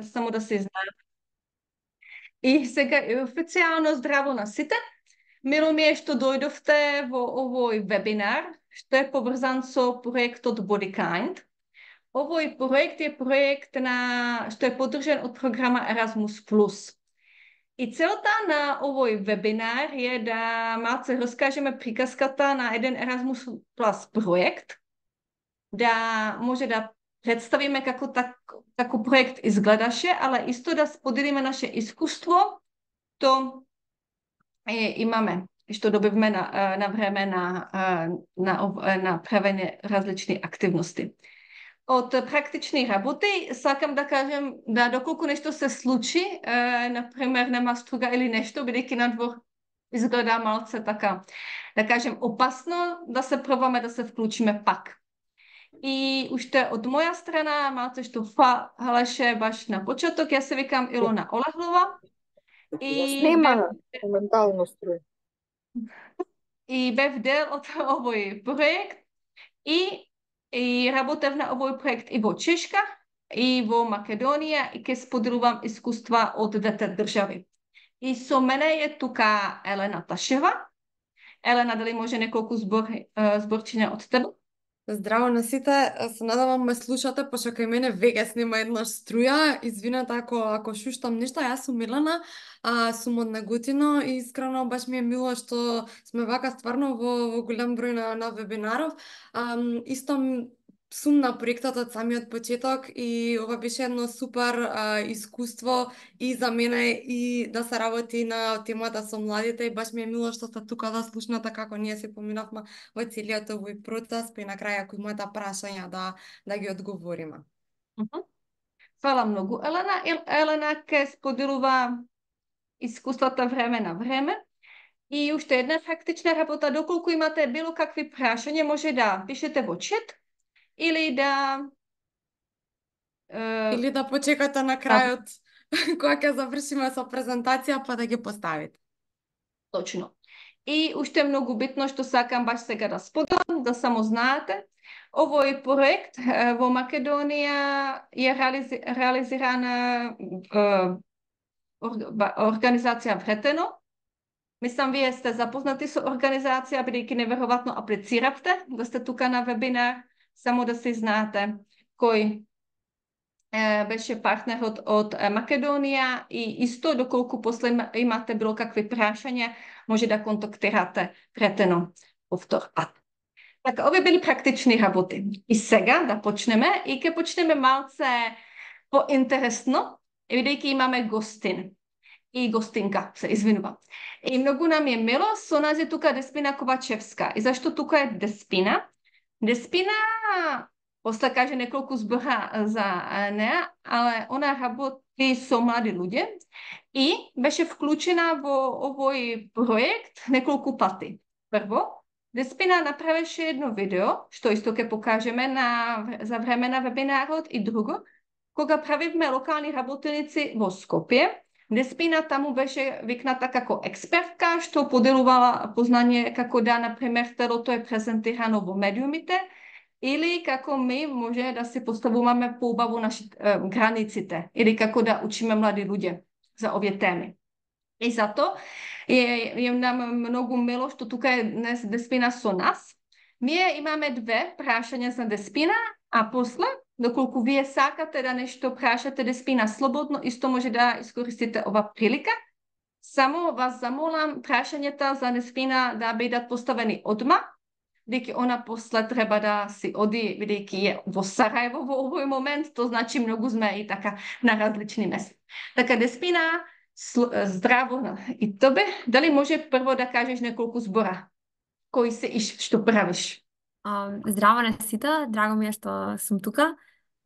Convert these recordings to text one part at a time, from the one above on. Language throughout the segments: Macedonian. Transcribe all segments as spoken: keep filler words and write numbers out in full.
само да се знае. И сега официјално здраво на сите. Мило ми е што дојдовте во овој вебинар, што е поврзан со проектот Bodykind. Овој проект е проект на што е поддржан од програма Erasmus Plus. И целта на овој вебинар е да малце раскажеме приказката на еден Erasmus Plus проект, да може да представиме како так, како проект изгледаше, ала исто да споделиме наше искуство, што е, имаме и што добивме на, на време на, на, на правење различни активности. Од практични работи, сакам да кажем да доколку нешто се случи, е, например нема струга или нешто, бидејќи надвор изгледа малце така, да кажем опасно, да се пробаме да се вклучиме пак. И уште од моја страна, малце што фалеше баш на почеток, јас се викам Илона Олахлова. И Нема моментално струја. И бев дел од овој проект и и работев на овој проект и во Чешка, и во Македонија, и ке споделувам искуства од двете држави. И со мене е тука Елена Ташева. Елена, дали може неколку збор, зборчиња од тебе? Здраво на сите, се надевам ме слушате, пошто кај мене веќе снима еднаш струја. Извинете ако ако шуштам нешто, јас сум Милана, а, сум од Неготино и искрено баш ми е мило што сме вака стварно во, во голем број на, на вебинаров. А, исто сум на проектот од самиот почеток и ова беше едно супер а, искуство и за мене и да се работи на темата со младите и баш ми е мило што сте тука да слушнате како ние се поминавме во целиот овој процес, па и на крај ако имате прашања да да ги одговориме. Фала многу, Елена. Елена ке споделува искуствата време на време. И уште една практична работа, доколку имате било какви прашања, може да пишете во чат или да е... или да почекате на крајот кога ќе завршиме со презентација па да ги поставите. Точно. И уште многу битно што сакам баш сега да споделам, да само знаете, овој проект во Македонија е реализи, реализирана организација Вретено. Мислам, вие сте запознати со организација, бидејќи неверојатно аплициравте да сте тука на вебинар, само да се знаете кој е, беше партнерот од Македонија и исто доколку после имате било какви прашања, може да контактирате Вретено повтор пат. Така, овие били практични работи. И сега да почнеме и ќе почнеме малце поинтересно, бидејќи имаме гостин. И гостинка, се извинувам. И многу нам е мило со нас е тука Деспина Ковачевска. И зашто тука е Деспина? Деспина, после каже неколку збора за неа, але она работи со млади луѓе и беше вклучена во овој проект неколку пати. Прво, Деспина направеше едно видео, што исто ќе покажеме на, за време на вебинарот, и друго, кога правивме локални работеници во Скопје, Деспина таму беше викната како експертка, што поделувала познание како да, например, телото е презентирано во медиумите, или како ми може да се поставуваме поубаво наши е, границите, или како да учиме млади луѓе за овие теми. И зато е, е нам многу мило што тука е днес Деспина со нас. Ние имаме две прашања за Деспина, а после, доколку вие сакате да нешто прашате Деспина слободно, исто може да искористите ова прилика. Само вас замолам прашањата за Деспина да бидат поставени одма, бидејќи она после треба да си оди, бидејќи е во Сарајево во овој момент, то значи многу сме и така на различни места. Така, Деспина, здраво и тебе. Дали може прво да кажеш неколку збора? Кој се и што правиш? Um, здраво на сите, драго ми е што сум тука.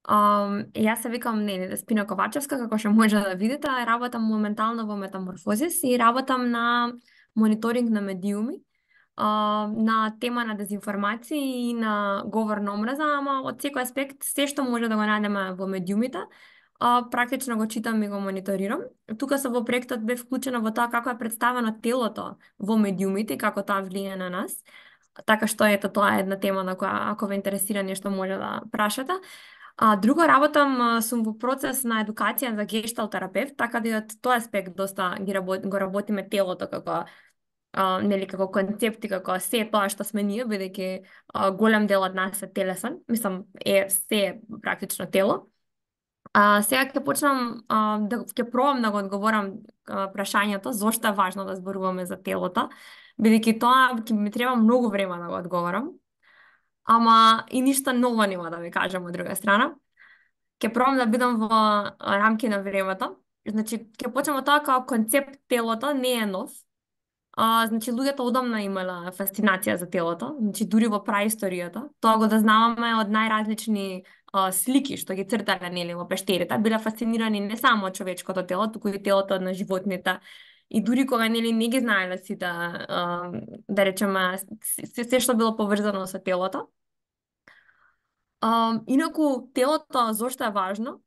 Um, јас се викам Нели Деспина Ковачевска, како што може да видите, работам моментално во Метаморфозис и работам на мониторинг на медиуми, uh, на тема на дезинформации и на говор на омраза, ама од секој аспект, се што може да го најдеме во медиумите, uh, практично го читам и го мониторирам. Тука се во проектот бе вклучена во тоа како е представено телото во медиумите и како тоа влијае на нас. Така што ето тоа е една тема на која ако ве интересира нешто може да прашате. А друго работам, а, сум во процес на едукација за гешталт терапевт, така да и од тој аспект доста ги работ, го работиме телото како а, нели како концепт и како се тоа што сме ние, бидејќи а, голем дел од нас е телесен, мислам е се практично тело. А, сега ќе почнам а, да ќе пробам да го одговорам а, прашањето зошто е важно да зборуваме за телото, бидејќи тоа ќе ми треба многу време да го одговорам. Ама и ништо ново нема да ви кажам од друга страна. Ќе пробам да бидам во рамки на времето. Значи, ќе почнем од тоа како концепт телото не е нов. А, значи, луѓето одамна имала фасцинација за телото, значи дури во праисторијата. Тоа го дознаваме од најразлични а, слики што ги цртале нели во пештерите. Биле фасцинирани не само од човечкото тело, туку и телото на животните. И дури кога нели не ги знаеле сите, а, да речеме, се, се што било поврзано со телото. А, инаку телото зошто е важно?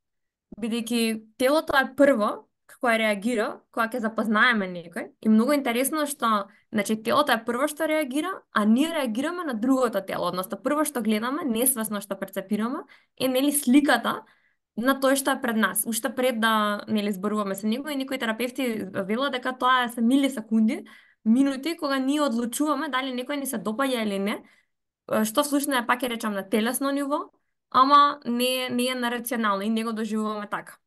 Бидејќи телото е прво кое реагира кога ќе запознаеме некој. И многу интересно што, значи, телото е прво што реагира, а ние реагираме на другото тело. Односно, прво што гледаме, несвесно што перцепираме, е нели сликата на тој што е пред нас. Уште пред да нели зборуваме со него, и некои терапевти велат дека тоа се милисекунди, минути кога ние одлучуваме дали некој ни се допаѓа или не, што всушност е, пак ќе речам, на телесно ниво, ама не, не е на рационално и не го доживуваме така.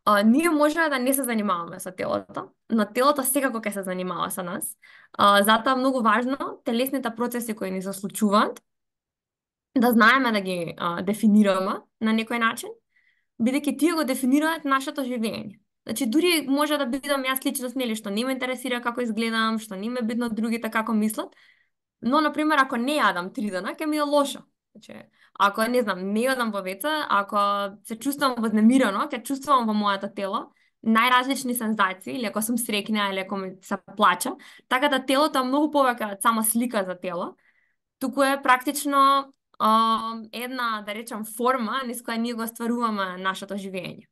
А, ние може да не се занимаваме со телото, но телото секако ќе се занимава со нас. А, затоа е многу важно телесните процеси кои ни се случуваат да знаеме да ги а, дефинираме на некој начин, бидејќи тие го дефинираат нашето живење. Значи, дури може да бидам јас личност, нели, што не ме интересира како изгледам, што не ме бидно другите како мислат, но, например, ако не јадам три дена, ќе ми е лошо. Значи, ако, не знам, не јадам во веце, ако се чувствувам вознемирено, ќе чувствувам во моето тело најразлични сензации, или ако сум среќна, или ако ми се плача. Така да телото е многу повеќе од само слика за тело, туку е практично а, една, да речам, форма низ која ние го стваруваме нашето живење.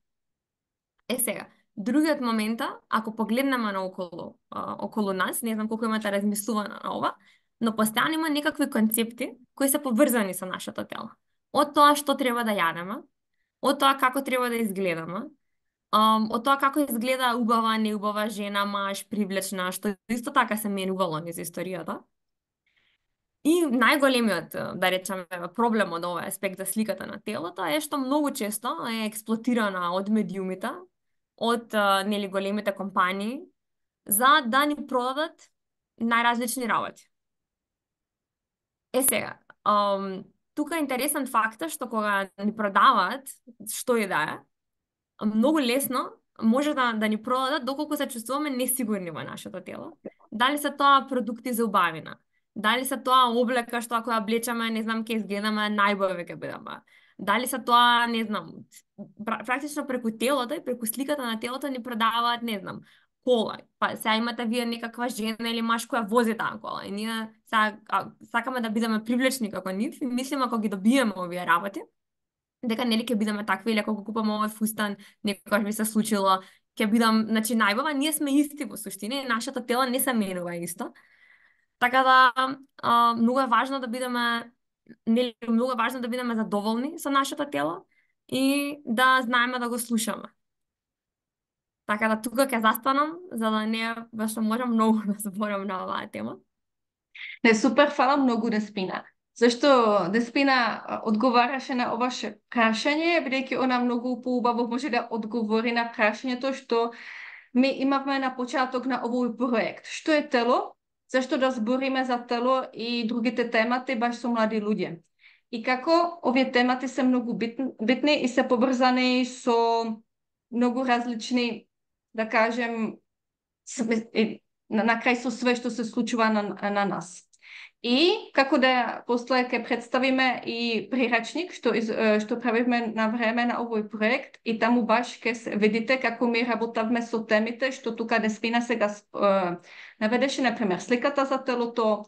Е сега, другиот момент, ако погледнеме на околу, а, околу нас, не знам колку имате размислувано на ова, но постојано има некакви концепти кои се поврзани со нашето тело. Од тоа што треба да јадеме, од тоа како треба да изгледаме, од тоа како изгледа убава, неубава жена, маж, привлечна, што исто така се менувало низ историјата. И најголемиот, да речеме, проблем од овој аспект за сликата на телото е што многу често е експлоатирана од медиумите, од нели големите компании, за да ни продадат најразлични работи. Е сега, um, тука е интересен факт што кога ни продаваат што и да е, многу лесно може да, да ни продадат доколку се чувствуваме несигурни во нашето тело. Дали се тоа продукти за убавина, дали се тоа облека што ако ја облечеме, не знам, ќе изгледаме најбојави ќе бидеме. Дали се тоа, не знам, практично преку телото и преку сликата на телото ни продаваат, не знам, кола. Па сега имате вие некаква жена или маж која вози таа кола и ние сега сакаме да бидеме привлечни како нив и мислиме ако ги добиеме овие работи, дека нели ќе бидеме такви, или ако го купаме овој фустан, некогаш би се случило, ќе бидам, значи, најбава, ние сме исти во суштина и нашето тело не се менува исто. Така да, а, многу е важно да бидеме, нели, многу е важно да бидеме задоволни со нашето тело и да знаеме да го слушаме. Така да тука ќе застанам, за да не баш можам многу да зборам на оваа тема. Не, супер, фала многу, Деспина. Зашто Деспина одговараше на оваше прашање, бидејќи она многу поубаво може да одговори на прашањето што ми имавме на почеток на овој проект. Што е тело? Зашто да збориме за тело и другите темати баш со млади луѓе? И како овие темати се многу битни, битни и се поврзани со многу различни, да кажем, на, на крај со све што се случува на, на нас. И како да после ќе представиме и прирачник што из, што правиме на време на овој проект и таму баш ќе видите како ми работавме со темите што тука Деспина сега е, наведеше, например, сликата за телото,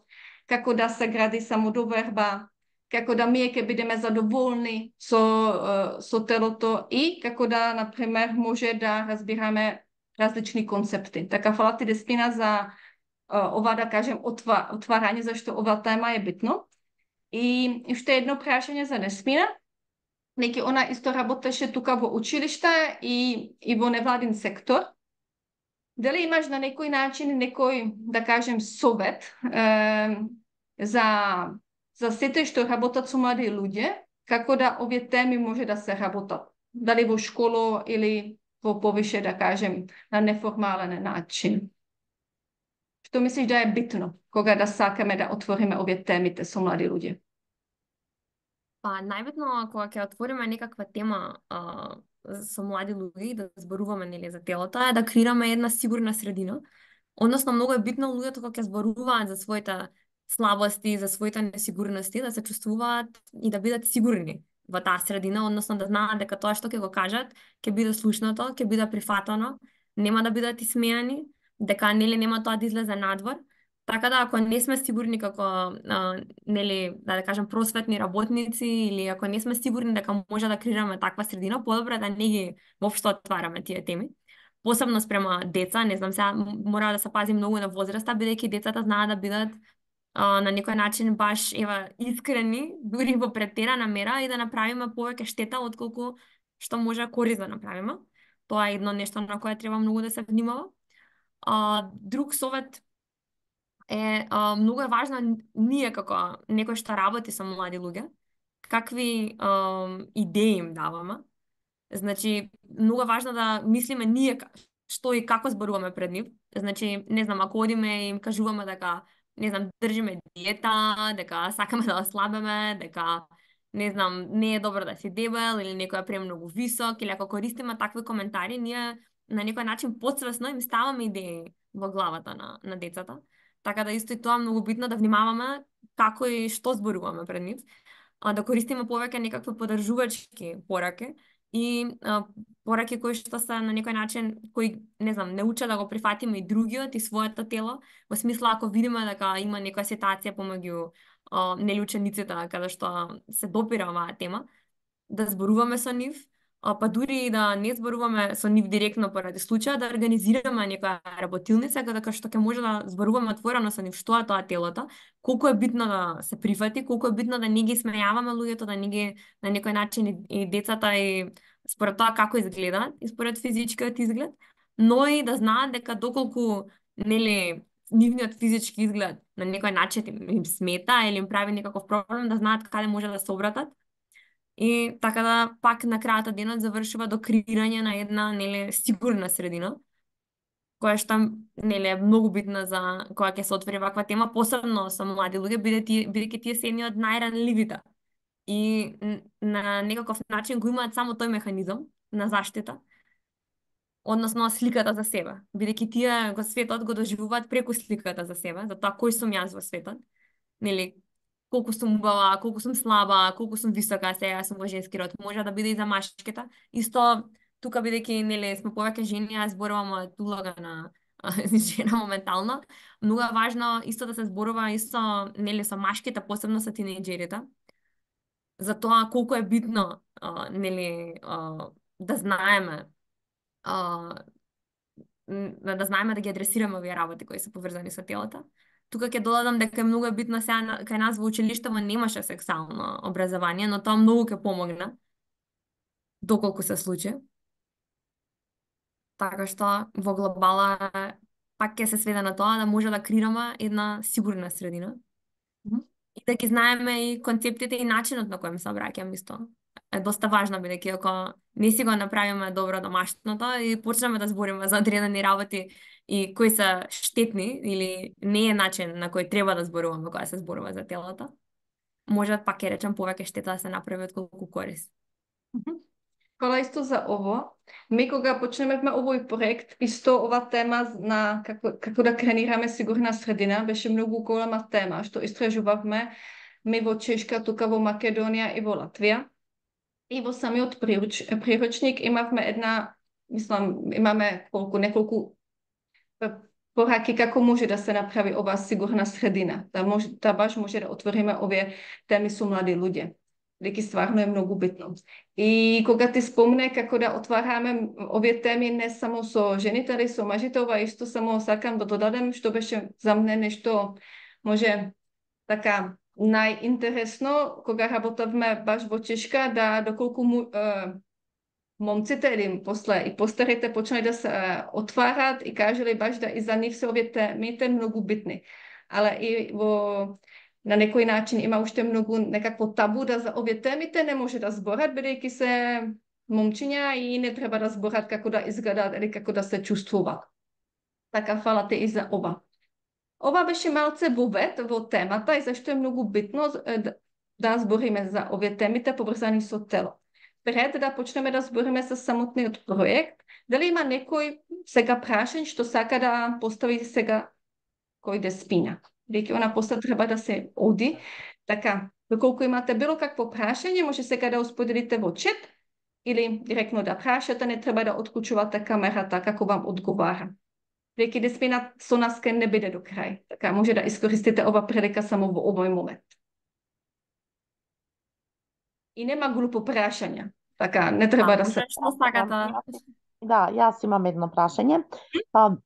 како да се гради самодоверба, како да ние ќе бидеме задоволни со со телото и како да, например, може да разбираме различни концепти. Така, фала ти, Деспина, за ова, да кажем, отварање, зашто ова тема е битно. И уште едно прашање за Деспина. Неки она исто работеше тука во училиште и, и во невладин сектор. Дали имаш на некој начин некој, да кажем, совет е, за, за сите што работат со млади луѓе, како да овие теми може да се работат? Дали во школо или во повише, да кажем, на неформален начин? Што мислиш да е битно кога да сакаме да отвориме овие темите со млади луѓе? Па, најбитно кога ќе отвориме некаква тема а, со млади луѓе и да зборуваме нели за телото е да креираме една сигурна средина. Односно, многу е битно луѓето кога ќе зборуваат за своите слабости, за своите несигурности, да се чувствуваат и да бидат сигурни во таа средина, односно да знаат дека тоа што ќе го кажат ќе биде слушнато, ќе биде прифатано, нема да бидат исмеани, дека нели нема тоа да излезе надвор. Така да, ако не сме сигурни како, а, нели, да, да кажем, просветни работници или ако не сме сигурни дека може да креираме таква средина, подобро е да не ги воопшто отвараме тие теми. Посебно спрема деца, не знам, сега мора да се пази многу на возраста, бидејќи децата знаат да бидат а, на некој начин баш ева искрени, дури во претерана мера и да направиме повеќе штета отколку што може корист да направиме. Тоа е едно нешто на кое треба многу да се внимава. А, друг совет е а, многу е важно ние како некој што работи со млади луѓе, какви а, идеи им даваме. Значи, многу е важно да мислиме ние што и како зборуваме пред нив. Значи, не знам, ако одиме и им кажуваме дека, не знам, држиме диета, дека сакаме да ослабеме, дека, не знам, не е добро да си дебел или некој е премногу висок, или ако користиме такви коментари, ние на некој начин подсвесно им ставаме идеи во главата на, на децата. Така да исто и тоа многу битно да внимаваме како и што зборуваме пред нив, а да користиме повеќе некакви подржувачки пораки и а, пораки кои што се на некој начин кои не знам не учат да го прифатиме и другиот и своето тело, во смисла ако видиме дека има некоја ситуација помеѓу нели учениците каде што се допира оваа тема, да зборуваме со нив, па дури и да не зборуваме со нив директно поради случаја, да организираме некоја работилница каде што ќе може да зборуваме отворено со нив што е тоа телото, колку е битно да се прифати, колку е битно да не ги смејаваме луѓето, да не ги на некој начин и, и децата и според тоа како изгледаат и според физичкиот изглед, но и да знаат дека доколку нели нивниот физички изглед на некој начин им, им смета или им прави некаков проблем, да знаат каде може да се обратат. И така да пак на крајот денот завршува до креирање на една нели сигурна средина, која што нели е многу битна за кога ќе се отвори ваква тема, посебно со млади луѓе, бидејќи тие се едни од најранливите. И на некаков начин го имаат само тој механизам на заштита, односно сликата за себе, бидејќи тие го светот го доживуваат преку сликата за себе, за тоа кој сум јас во светот, нели колку сум убава, колку сум слаба, колку сум висока, сега сум во женски род, може да биде и за машките. Исто тука бидејќи нели сме повеќе жени, јас зборувам од улога на жена моментално, многу е важно исто да се зборува исто нели со машките, посебно со тинејџерите, за тоа колку е битно а, нели а, да знаеме а, да знаеме да ги адресираме овие работи кои се поврзани со телото. Тука ќе додадам дека е многу битно сега кај нас во училиштето немаше сексуално образование, но тоа многу ќе помогне доколку се случи. Така што во глобала пак ќе се сведе на тоа да може да креираме една сигурна средина. Mm-hmm. И да ги знаеме и концептите и начинот на кој се обраќам исто. Е доста важно бидејќи ако не си го направиме добро домашното и почнеме да збориме за одредени работи и кои се штетни или не е начин на кој треба да зборуваме кога се зборува за телото, може пак ќе речем повеќе штета да се направи отколку корист. Хвала исто за ово. Ми кога почнемевме овој проект, исто ова тема на како, како да кренираме сигурна средина, беше многу голема тема, што истражувавме ми во Чешка, тука во Македонија и во Латвија. И во самиот прируч, приручник имавме една, мислам, имаме колку, неколку пораки како може да се направи оваа сигурна средина, да, може, да баш може да отвориме овие теми со млади луѓе. Деки стварно е многу битно. И кога ти спомне како да отвараме овие теми не само со жените, али со мажите, ова исто само сакам да додадем, што беше за мене нешто може така најинтересно кога работевме баш во Чешка, да доколку му, е, момците или после и постарите почнали да се е, отварат и кажали баш да и за нив се овие темите многу битни. Але и во на некој начин има уште многу некакво табу да за овие темите не може да зборат, бидејќи се момчиња и не треба да зборат како да изгледаат или како да се чувствуваат. Така, фала те и за ова. Ова беше малце вовед во темата и зашто е многу битно да, да збориме за овие темите поврзани со тело. Пред да почнеме да збориме за самотниот проект, дали има некој сега прашање што сака да постави сега кој да спина? Веќе она после треба да се оди. Така, доколку имате било какво прашање, може сега да споделите во чат или директно да прашате, не треба да отклучувате камерата како вам одговара. Веќе деспинат со нас ке не биде до крај. Така, може да искористите ова прилика само во овој момент. И нема глупо прашање. Така, не треба да се... Што сакате? Да, јас имам едно прашање. А,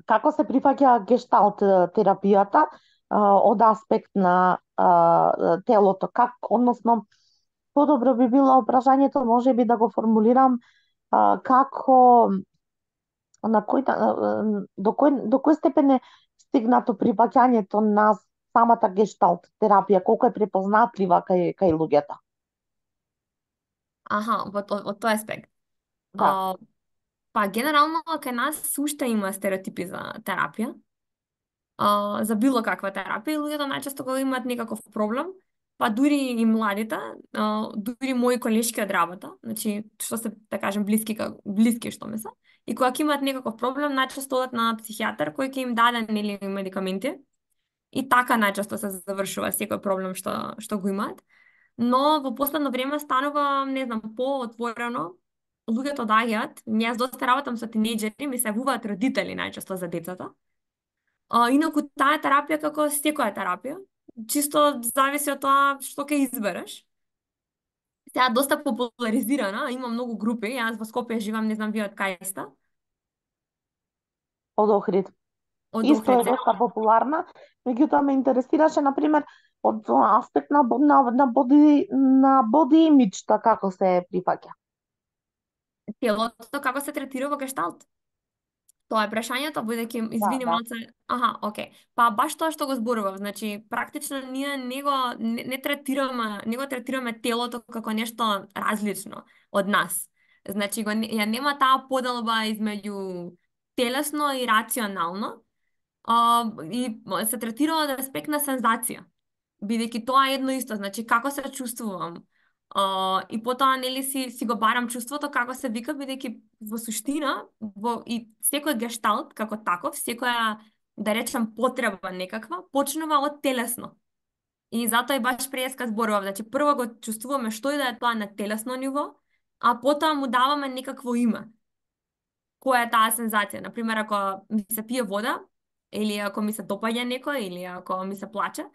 како се прифаќа гешталт терапијата а, од аспект на а, телото? Как, односно, подобро би било прашањето, може би да го формулирам а, како на кој, до кој, до кој степен е стигнато прифаќањето на самата гешталт терапија, колку е препознатлива кај, кај луѓето? Аха, во, во, во тој аспект. Да. А, па, генерално, кај нас уште има стереотипи за терапија. А, за било каква терапија, луѓето најчесто кога имаат некаков проблем, па дури и младите, а, дури мои колешки од работа, значи, што се, да кажем, блиски, блиски што ми се, и кога имаат некаков проблем, најчесто одат на психијатар кој ќе им даде нели медикаменти, и така најчесто се завршува секој проблем што, што го имаат. Но во последно време станува, не знам, по-отворено, луѓето доаѓаат, јас доста работам со тинејџери, ми се јавуваат родители најчесто за децата. А, инаку таа терапија како секоја терапија, чисто зависи од тоа што ќе избереш. Сега доста популаризирана, има многу групи, јас во Скопје живам, не знам вие од кај сте. Од Охрид. Од Исто е Охрид. доста популарна, меѓутоа ме интересираше, например, од аспект на, на, на боди, на боди имиджта, како се прифаќа. Телото како се третира во гешталт? Тоа е прашањето, бидејќи извини да. малце. Аха, окей. Па баш тоа што го зборував, значи практично ние не го не, не третираме, не го третираме телото како нешто различно од нас. Значи го ја нема таа поделба измеѓу телесно и рационално. А, и се третира од аспект на сензација. Бидејќи тоа е едно исто, значи како се чувствувам. Uh, и потоа нели си си го барам чувството како се вика, бидејќи во суштина во и секој гешталт како таков, секоја да речем потреба некаква почнува од телесно. И затоа и баш преска зборував, значи прво го чувствуваме што и да е тоа на телесно ниво, а потоа му даваме некакво име. Која е таа сензација? Например, ако ми се пие вода, или ако ми се допаѓа некој, или ако ми се плаче,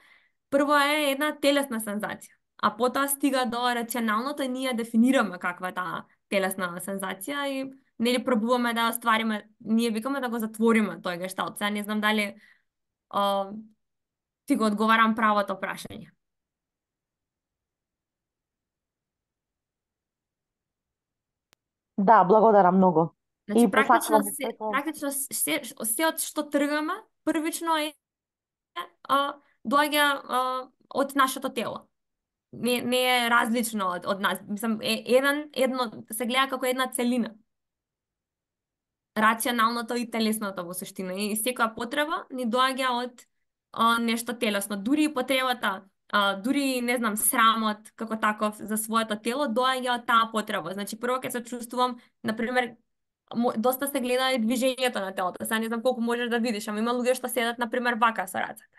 прво е една телесна сензација. А потоа стига до рационалното и ние дефинираме каква е таа телесна сензација и нели пробуваме да оствариме, ние викаме да го затвориме тој гешталт. Сега не знам дали а, ти го одговарам правото прашање. Да, благодарам многу. Значи, И практично, посакувам се, прeko- практично се, се од што тргаме, првично е а, доаѓа а, од нашето тело. Не, не е различно од, од нас. Мислам, е, еден, едно, се гледа како една целина. Рационалното и телесното во суштина. И секоја потреба ни доаѓа од а, нешто телесно. Дури и потребата, а, дури, не знам, срамот како таков за своето тело, доаѓа од таа потреба. Значи, прво ќе се чувствувам, например, доста се гледа и движењето на телото. Сега не знам колку можеш да видиш, ама има луѓе што седат, например, вака со рацете.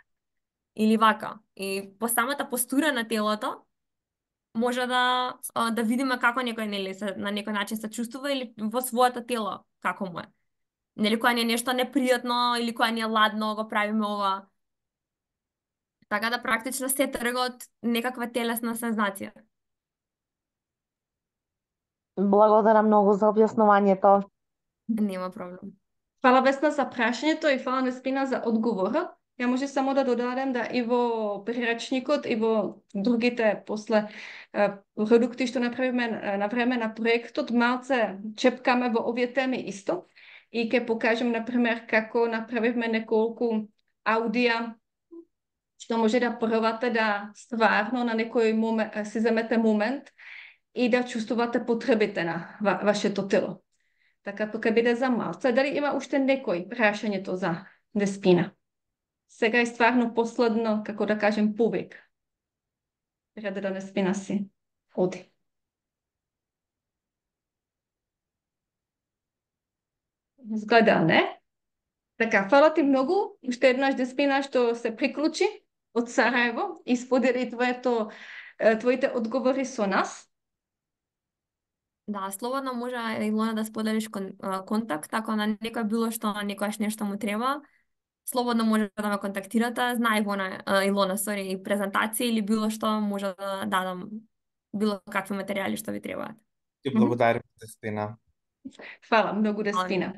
Или вака. И по самата постура на телото, може да да видиме како некој нели се на некој начин се чувствува или во своето тело како му е. Нели кога ни е нешто непријатно или кога ни е ладно, го правиме ова. Така да практично се трга од некаква телесна сензација. Благодарам многу за објаснувањето. Нема проблем. Фала Весна за прашањето и фала Неспина за одговорот. Ја може само да додадем да и во прирачникот и во другите после е, продукти што направиме е, на време на проектот, малце чепкаме во овие теми исто. И ќе покажем, например, како направивме неколку аудија што може да пробате да стварно на некој момент, си земете момент и да чувствувате потребите на ва, вашето тело. Така тоа ќе биде за малце. Дали има уште некој прашањето за деспина? Сега е стварно последно, како да кажем, повик. Пред да деспина си оди. Изгледа, не? Така, фала ти многу. Уште еднаш деспина што се приклучи од Сараево и сподели твоето, твоите одговори со нас. Да, слободно може Илона да споделиш кон, а, контакт, ако на некој било што, некојаш нешто му треба, слободно може да ме контактирате. Знај го на а, Илона, сори, и презентација или било што, може да дадам било какви материјали што ви требаат. Ти благодарам, Деспина. Фала многу, Деспина.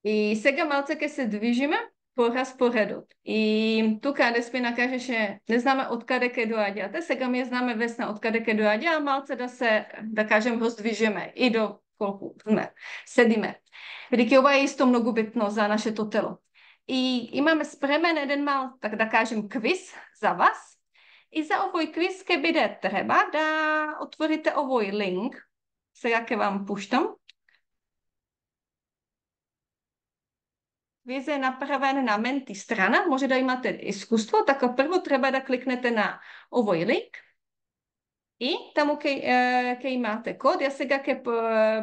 И сега малце ќе се движиме по распоредот. И тука Деспина кажеше, не знаме од каде ќе доаѓате, сега ми знаме Весна од каде ќе доаѓа, а малце да се, да кажем, роздвижиме и до колку сме, седиме. Бидејќи ова е исто многу битно за нашето тело. И имаме спремен еден мал, така да кажем, квиз за вас. И за овој квиз ќе биде треба да отворите овој линк. Сега ќе вам пуштам. Квиз е направен на Менти страна, може да имате искуство, така прво треба да кликнете на овој линк и таму ќе, ќе имате код. Јас сега ќе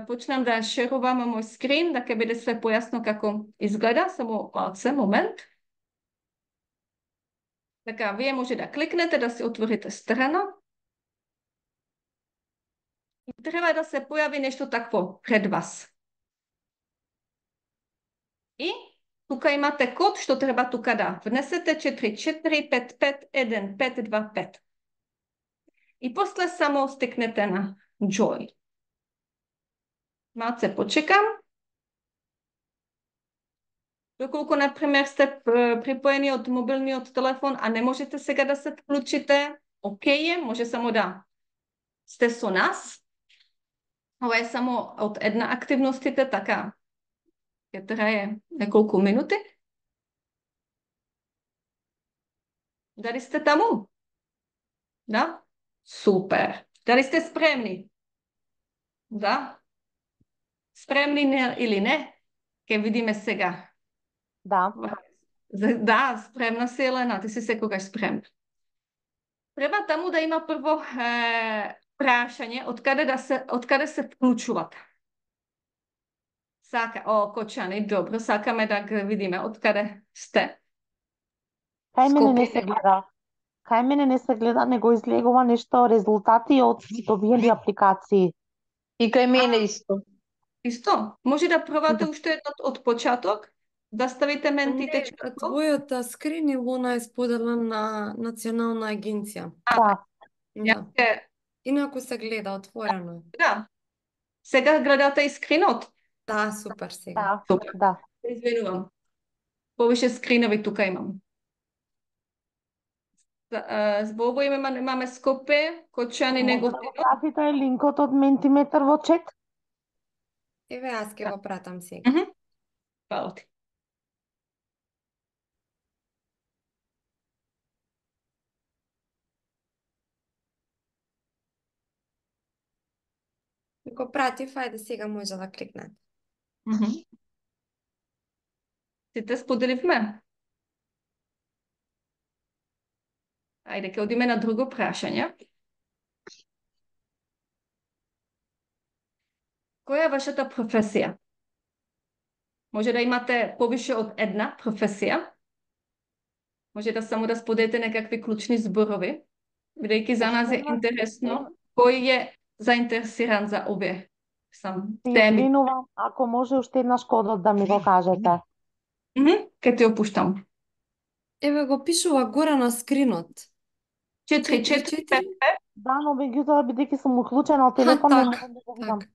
почнам да шерувам мој скрин, да ќе биде све појасно како изгледа, само малце момент. Така, вие може да кликнете, да се отворите страна. И треба да се појави нешто такво пред вас. И тука имате код што треба тука да внесете четири четири пет пет еден пет два пет. И после само стекнете на Join. Малце почекам. Доколку, например, сте припоени од мобилниот телефон, а не можете сега да се вклучите, окей е, може само да сте со нас. Ова е само од една активностите, така ќе трае неколку минути. Дали сте таму? Да? Супер. Дали сте спремни? Да? Спремни не, или не? Ке видиме сега. Да. Да, спремна си, Елена. Ти си секогаш спремна. Треба таму да има прво е, прашање од каде да се од каде се вклучуват. Сака, о, Кочани, добро, сакаме да го видиме од каде сте. Кај мене не се гледа. Кај мене не се гледа, него излегува нешто резултати од добиени апликации. И кај мене исто. Исто? Може да пробате уште еднот од початок, да ставите ментите. Не, твојот скрин Илона е споделен на Национална агенција. Да. Да. Инаку се гледа отворено. Да. Сега гледате и скринот. Да, супер сега. Да, да. Извинувам. Повише скринови тука имам. Во ово име имаме Скопе, Кочани, Неготино. Пратите линкот од Ментиметар во чет? Еве, аз ќе го пратам сега. Мгм. Фала ти. Го пратив, ајде сега може да кликнете. Мгм. Сите споделивме. Ајде, ќе одиме на друго прашање. Која е вашата професија? Може да имате повише од една професија. Може да само да споделите некакви клучни зборови, бидејќи за нас е интересно кој е заинтересиран за овие сам теми. Извинувам, ако може уште еднаш кодот да ми го кажете. Мгм, ке ти опуштам. Еве го пишува горе на скринот. четири четири пет. Да, но меѓутоа бидејќи сум уклучена од телефон, не так, можам да го видам. Так.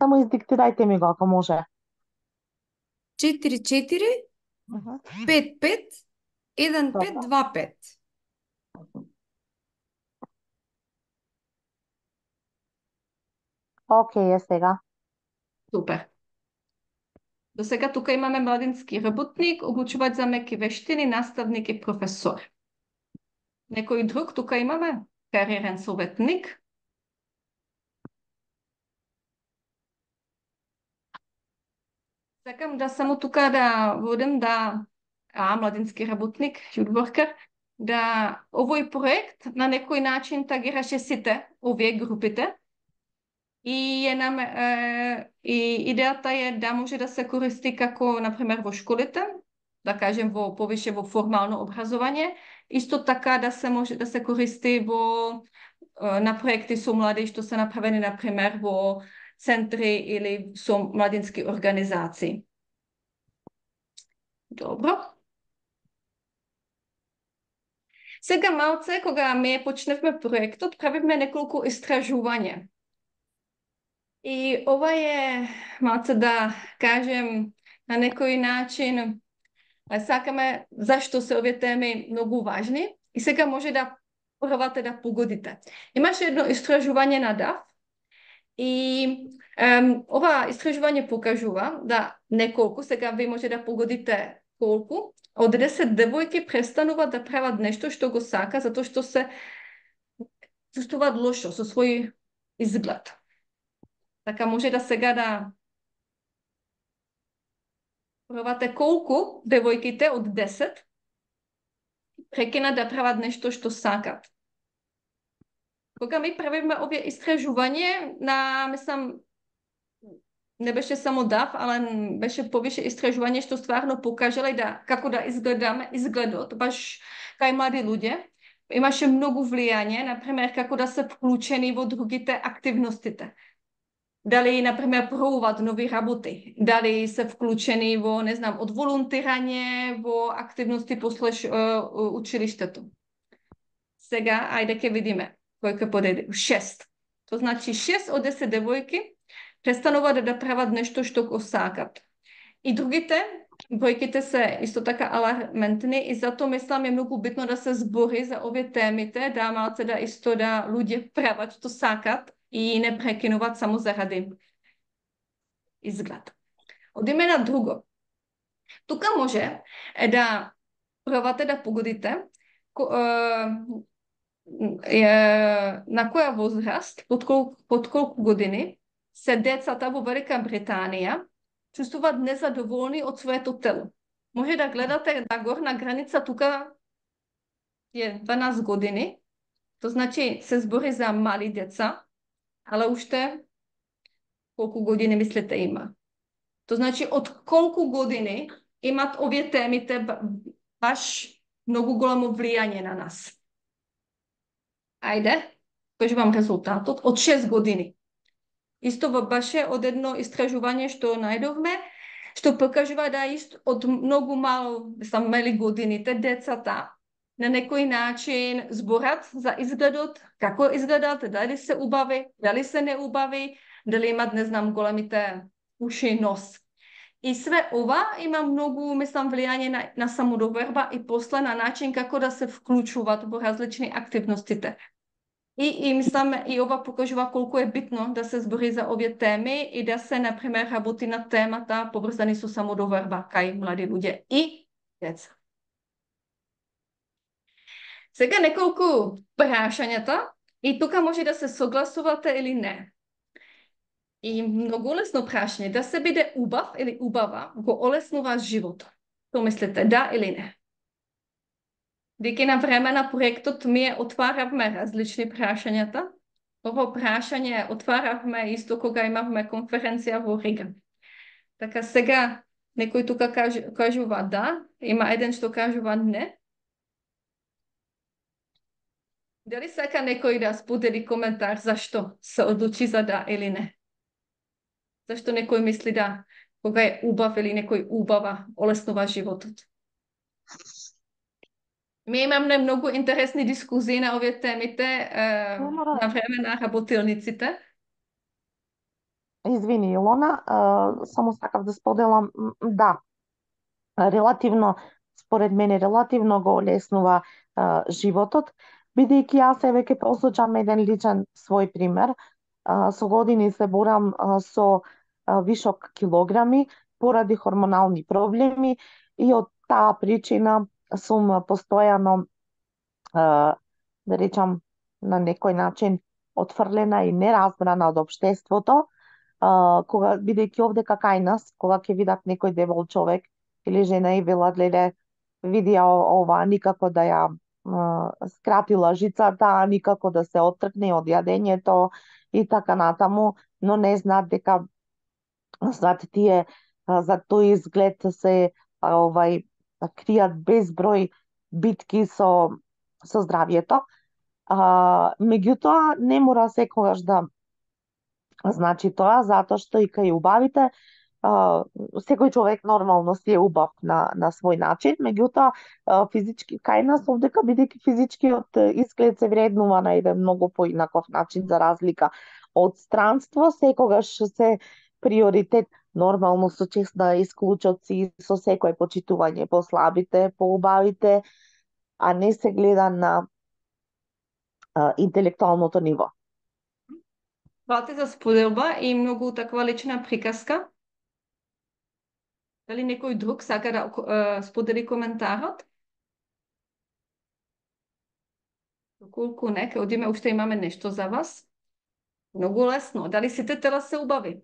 Само издиктирајте ми го ако може. четири четири Мгм. пет пет еден пет Добро. два пет. Океј е сега. Супер. До сега тука имаме младински работник, обучувач за меки вештини, наставник и професор. Некој друг тука имаме? Кариерен советник. Сакам да само тука да водам да а, младински работник, youth worker, да овој проект на некој начин тагираше сите овие групите. И е нам е, и идејата е да може да се користи како на пример во школите, да кажем во повише во формално образование, исто така да се може да се користи во е, на проекти со млади што се направени на пример во центри или со младински организации. Добро. Сега малце, кога ме почневме проектот, правивме неколку истражувања. И ова е малце да кажем на некој начин сакаме зашто се овие теми многу важни и сега може да пробате да погодите. Имаше едно истражување на даф и ем, ова истражување покажува да неколку, сега ви може да погодите колку, од десет девојки престануваат да прават нешто што го сака затоа што се чувствуваат лошо со свој изглед. Така може да сега да пробате колку девојките од десет прекинат да прават нешто што сакат. Кога ми правиме овие истражување, на, мислам, не беше само даф, ала беше повише истражување што стварно покажале да како да изгледаме изгледот, баш кај млади луѓе. Имаше многу влијање, например, како да се вклучени во другите активностите. Дали, например, пробуваат нови работи, дали се вклучени во, не знам, од волонтирање, во активности после училиштето. Сега, ајде ке видиме, кој ке подеди. Шест. То значи шест од десет девојки престануваат да прават нешто што го сакат. И другите, бројките се исто така аларментни и затоа мислам е многу битно да се збори за овие темите, да малце да исто да луѓе прават што сакат и не прекинуваат само заради изглед. Одиме на друго. Тука може е да пробате да погодите ко, е, е, на која возраст, под колку, под колку години се децата во Велика Британија чувствуваат незадоволни од своето тело. Може да гледате на горна граница тука е дванаесет години, то значи се збори за мали деца, але уште колку години мислите има. То значи од колку години имат овие темите баш многу големо влијање на нас. Ајде, кажувам резултатот, од шест години. Исто беше од едно истражување што најдовме, што покажува да ист од многу мало, мислам, мали годините, децата на некој начин зборат за изгледот, како изгледат, дали се убави, дали се не убави, дали имат, не знам, големите уши и нос. И све ова има многу, мислам, влијање на, на самодоверба и после на начин како да се вклучуваат во различни активностите. И, и мислам, и ова покажува колку е битно да се збори за овие теми и да се, например, работи на темата поврзани со самодоверба кај млади луѓе и деца. Сега неколку прашањата и тука може да се согласувате или не. И многу лесно прашање, да се биде убав или убава го олеснува животот. Што мислите, да или не? Деки на време на проектот ми отваравме различни прашањата. Ово прашање отваравме исто кога имавме конференција во Рига. Така сега некој тука кажува да, има еден што кажува не. Дали сака некој да сподели коментар зашто се одлучи за да или не? Зашто некој мисли да, кога е убав или некој убава, олеснува животот? Ми имаме многу интересни дискусии на овие темите е, на време на работилниците. Извини, Илона, само сакав да споделам, да, релативно, според мене, релативно го олеснува а, животот, бидејќи јас еве ќе посочам еден личен свој пример. А, со години се борам а, со а, вишок килограми поради хормонални проблеми и од таа причина сум постојано, а, да речам, на некој начин отфрлена и неразбрана од општеството, а, кога бидејќи овдека кај нас, кога ќе видат некој дебел човек или жена и велат, леле, види ја ова, никако да ја а, скрати лажицата, никако да се оттркне од јадењето и така натаму, но не знаат дека знаат тие а, за тој изглед се а, овај кријат безброј битки со со здравјето. А, меѓутоа не мора секогаш да значи тоа, затоа што и кај убавите а, секој човек нормално си е убав на, на свој начин, меѓутоа а, физички кај нас овдека, бидејќи физичкиот изглед се вреднува на еден многу поинаков начин за разлика од странство, секогаш се приоритет нормално со чест на исклучоци, со секој почитување по слабите, по убавите, а не се гледа на а, интелектуалното ниво. Хвала ти за споделба и многу таква лична приказка. Дали некој друг сака да е, сподели коментарот? Доколку не, ке одиме, уште имаме нешто за вас. Многу лесно. Дали сите тела се убави?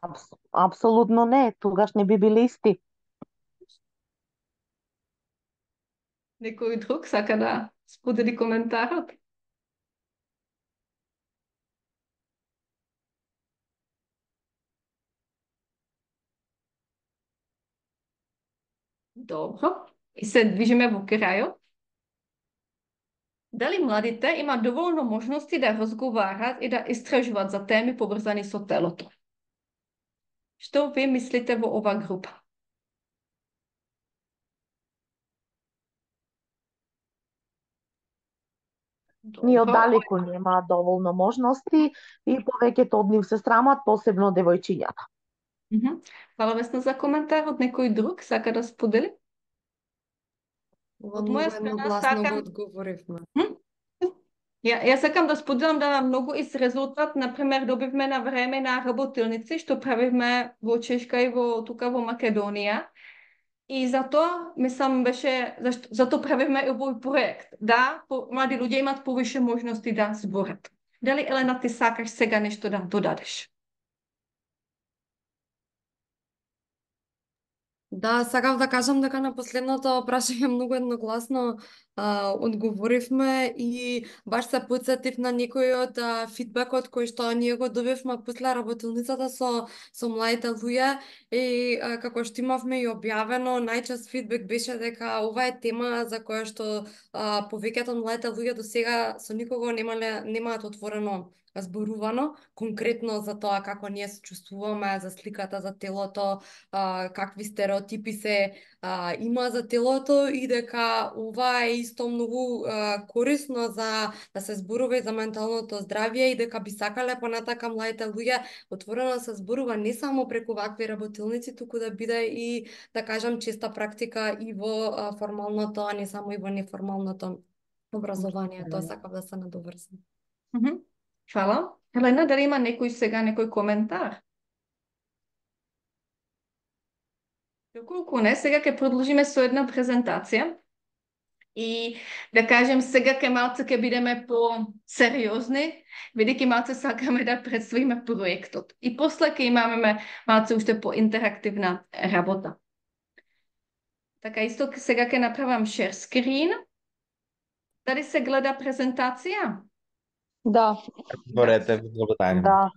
Абс, апсолутно не, тогаш не би биле исти. Некој друг сака да сподели коментарот? Добро. И се движиме во крајот. Дали младите имаат доволно можности да разговарат и да истражуваат за теми поврзани со телото? Што ви мислите во ова група? Ни Добро. оддалеку нема доволно можности и повеќето од нив се срамат, посебно девојчињата. Мгм. Фала Весна за коментарот. Некој друг сака да сподели? Ова Од многу моја страна едногласно сакам- го одговоривме. Ја, јас сакам да споделам да многу из резултат, например, добивме на време на работилници, што правивме во Чешка и во тука во Македонија. И затоа, мислам, беше, зашто, затоа правивме и овој проект, да по, млади луѓе имат повише можности да зборат. Дали, Елена, ти сакаш сега нешто да додадеш? Да, сакав да кажам дека на последното прашање многу едногласно а, одговоривме и баш се потсетив на некој од а, фидбекот кој што ние го добивме после работилницата со со младите луѓе и а, како што имавме и објавено, најчест фидбек беше дека ова е тема за која што а, повеќето од младите луѓе до сега со никого немале немаат отворено зборувано, конкретно за тоа како ние се чувствуваме, за сликата за телото, а, какви стереотипи се а, има за телото и дека ова е исто многу а, корисно за да се зборува и за менталното здравје и дека би сакале понатака младите луѓе отворено да се зборува не само преку вакви работилници, туку да биде и, да кажам, честа практика и во а, формалното, а не само и во неформалното образование. Тоа сакав да се надоврзам. Мгм. Фала. Елена, дали има некој сега некој коментар? Доколку не, сега ќе продолжиме со една презентација. И да кажем, сега ке малце ќе бидеме по-сериозни, бидејќи малце сакаме да представиме проектот. И после ќе имаме малце уште по-интерактивна работа. Така, исто сега ќе направам share screen. Дали се гледа презентација? Да. Борете, благодарим. Да.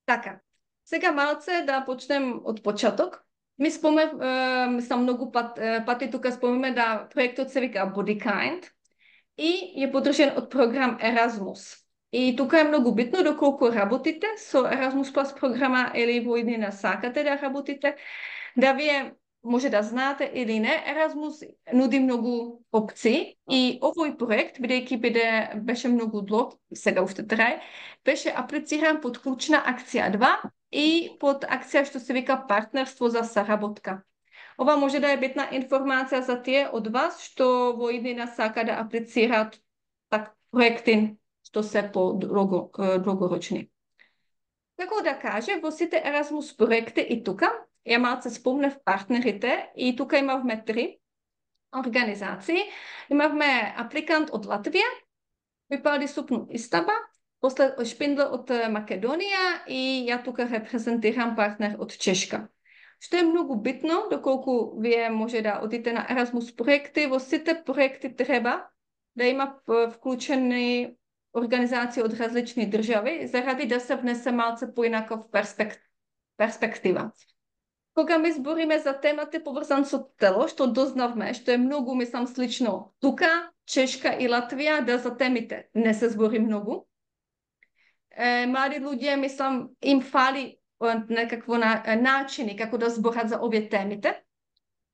Така, сега малце да почнем од почеток. Ми споме, е, мислам, многу пат, е, пати тука спомеме да проектот се вика Body Kind и е подржен од програм Erasmus. И тука е многу битно доколку работите со Erasmus Plus програма или во иднина сакате да работите, да вие може да знаете или не, Еразмус нуди многу опции и овој проект, бидејќи биде беше многу длог, сега уште трае, беше аплициран под клучна акција два и под акција што се вика партнерство за соработка. Ова може да е битна информација за тие од вас што во иднина сака да аплицираат так проекти што се по-долгорочни. Како да каже, во сите Еразмус проекти и тука, ја малце спомнев партнерите и тука имавме три организации. Имавме апликант од Латвија, Випалди Супну Истаба, после Шпиндл од Македонија и ја тука репрезентирам партнер од Чешка. Што е многу битно, доколку вие може да одите на Еразмус проекти, во сите проекти треба да има вклучени организации од различни држави, заради да се внесе малце поинаков перспект... перспектива. Кога ми збориме за темата поврзан со тело, што дознавме, што е многу, мислам, слично тука, Чешка и Латвија, да за темите не се збори многу. Е, млади луѓе, мислам, им фали некакво на, начини како да зборат за овие темите.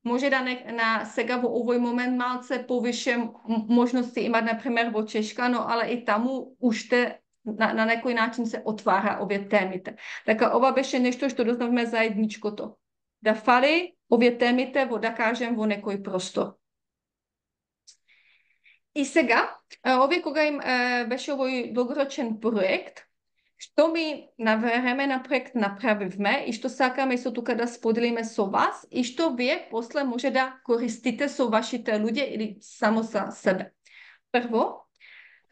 Може да не, на сега во овој момент малце повише можности има, например, во Чешка, но але и таму уште на, на некој начин се отвара овие темите. Така, ова беше нешто што дознавме заедничкото. Да фали овие темите во, да кажем, во некој простор. И сега, овие кога им е, беше овој долгорочен проект, што ми на време на проект направивме и што сакаме со тука да споделиме со вас и што вие после може да користите со вашите луѓе или само за себе. Прво,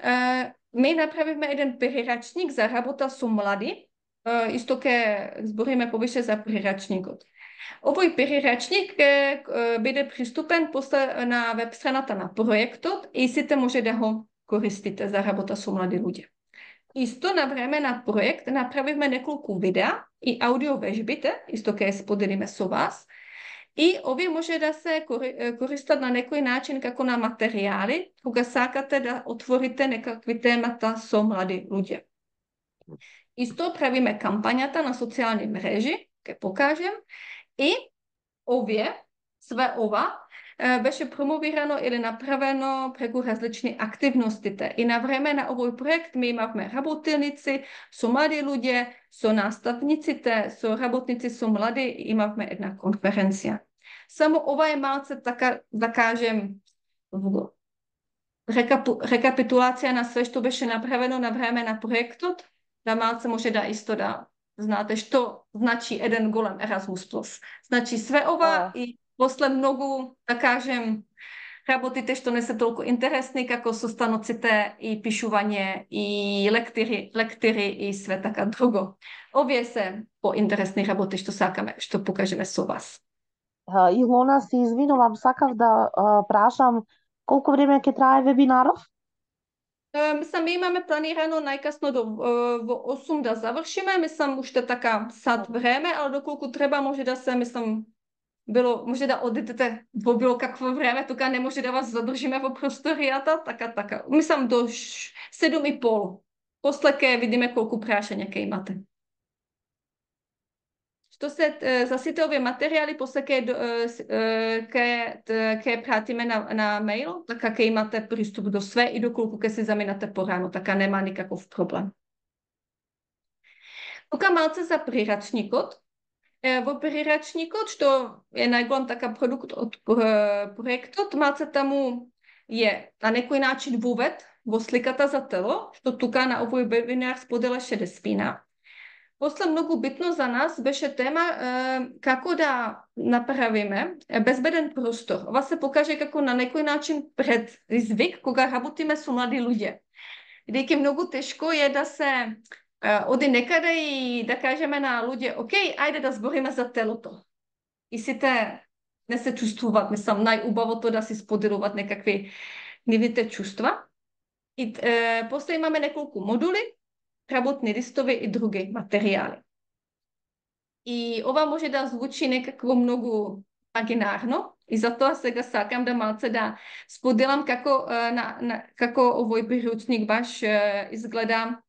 е, ми направивме еден прирачник за работа со млади, е, исто ке збориме повише за прирачникот. Овој прирачник ќе биде приступен после на веб страната на проектот и сите може да го користите за работа со млади луѓе. Исто на време на проект направивме неколку видеа и аудио вежбите, исто ќе споделиме со вас. И овие може да се користат на некој начин како на материјали, кога сакате да отворите некакви темата со млади луѓе. Исто правиме кампањата на социјални мрежи, ќе покажем, и овие, све ова, беше промовирано или направено преку различни активностите. И на време на овој проект ми имавме работилници со млади луѓе, со наставниците, со работници со млади, имавме една конференција. Само ова е малце, така да кажем, рекапу, рекапитулација на све што беше направено на време на проектот, да малце може да исто да знаете што значи еден голем Еразмус плюс. Значи све ова oh. и после многу, да кажем, работите што не се толку интересни, како состаноците и пишување и лектири, лектири и све така друго. Овие се поинтересни работи што сакаме, што покажеме со вас. Илона, се извинувам, сакав да а, прашам колку време ќе трае вебинаров? Мислам, имаме планирано најкасно до, во осум да завршиме, мислам, уште така сат време, але доколку треба може да се, мислам, било, може да одидете во било какво време, тука не може да вас задржиме во просторијата, така, така. Мислам, до седум и пол. После ќе видиме колку прашања ќе имате. Што се за сите овие материјали, после ќе ќе ќе пратиме на на мејл, така ќе имате приступ до све и доколку ќе се заминате порано, така нема никаков проблем. Тука малце за прирачникот. Во прирачникот, што е најголем така продукт од проектот, малце таму е на некој начин вовед во сликата за тело, што тука на овој вебинар споделаше Деспина. После многу битно за нас беше тема е, како да направиме безбеден простор. Ова се покаже како на некој начин предизвик кога работиме со млади луѓе. Бидејќи многу тешко е да се е, оди некаде и да кажеме на луѓе, окей, ајде да збориме за телото. И сите не се чувствуваат, мислам, најубавото да си споделуваат некакви нивните чувства. И е, после имаме неколку модули, работни листови и други материјали. И ова може да звучи некако многу имагинарно и затоа сега сакам да малце да споделам како, на, на, како овој приручник баш изгледа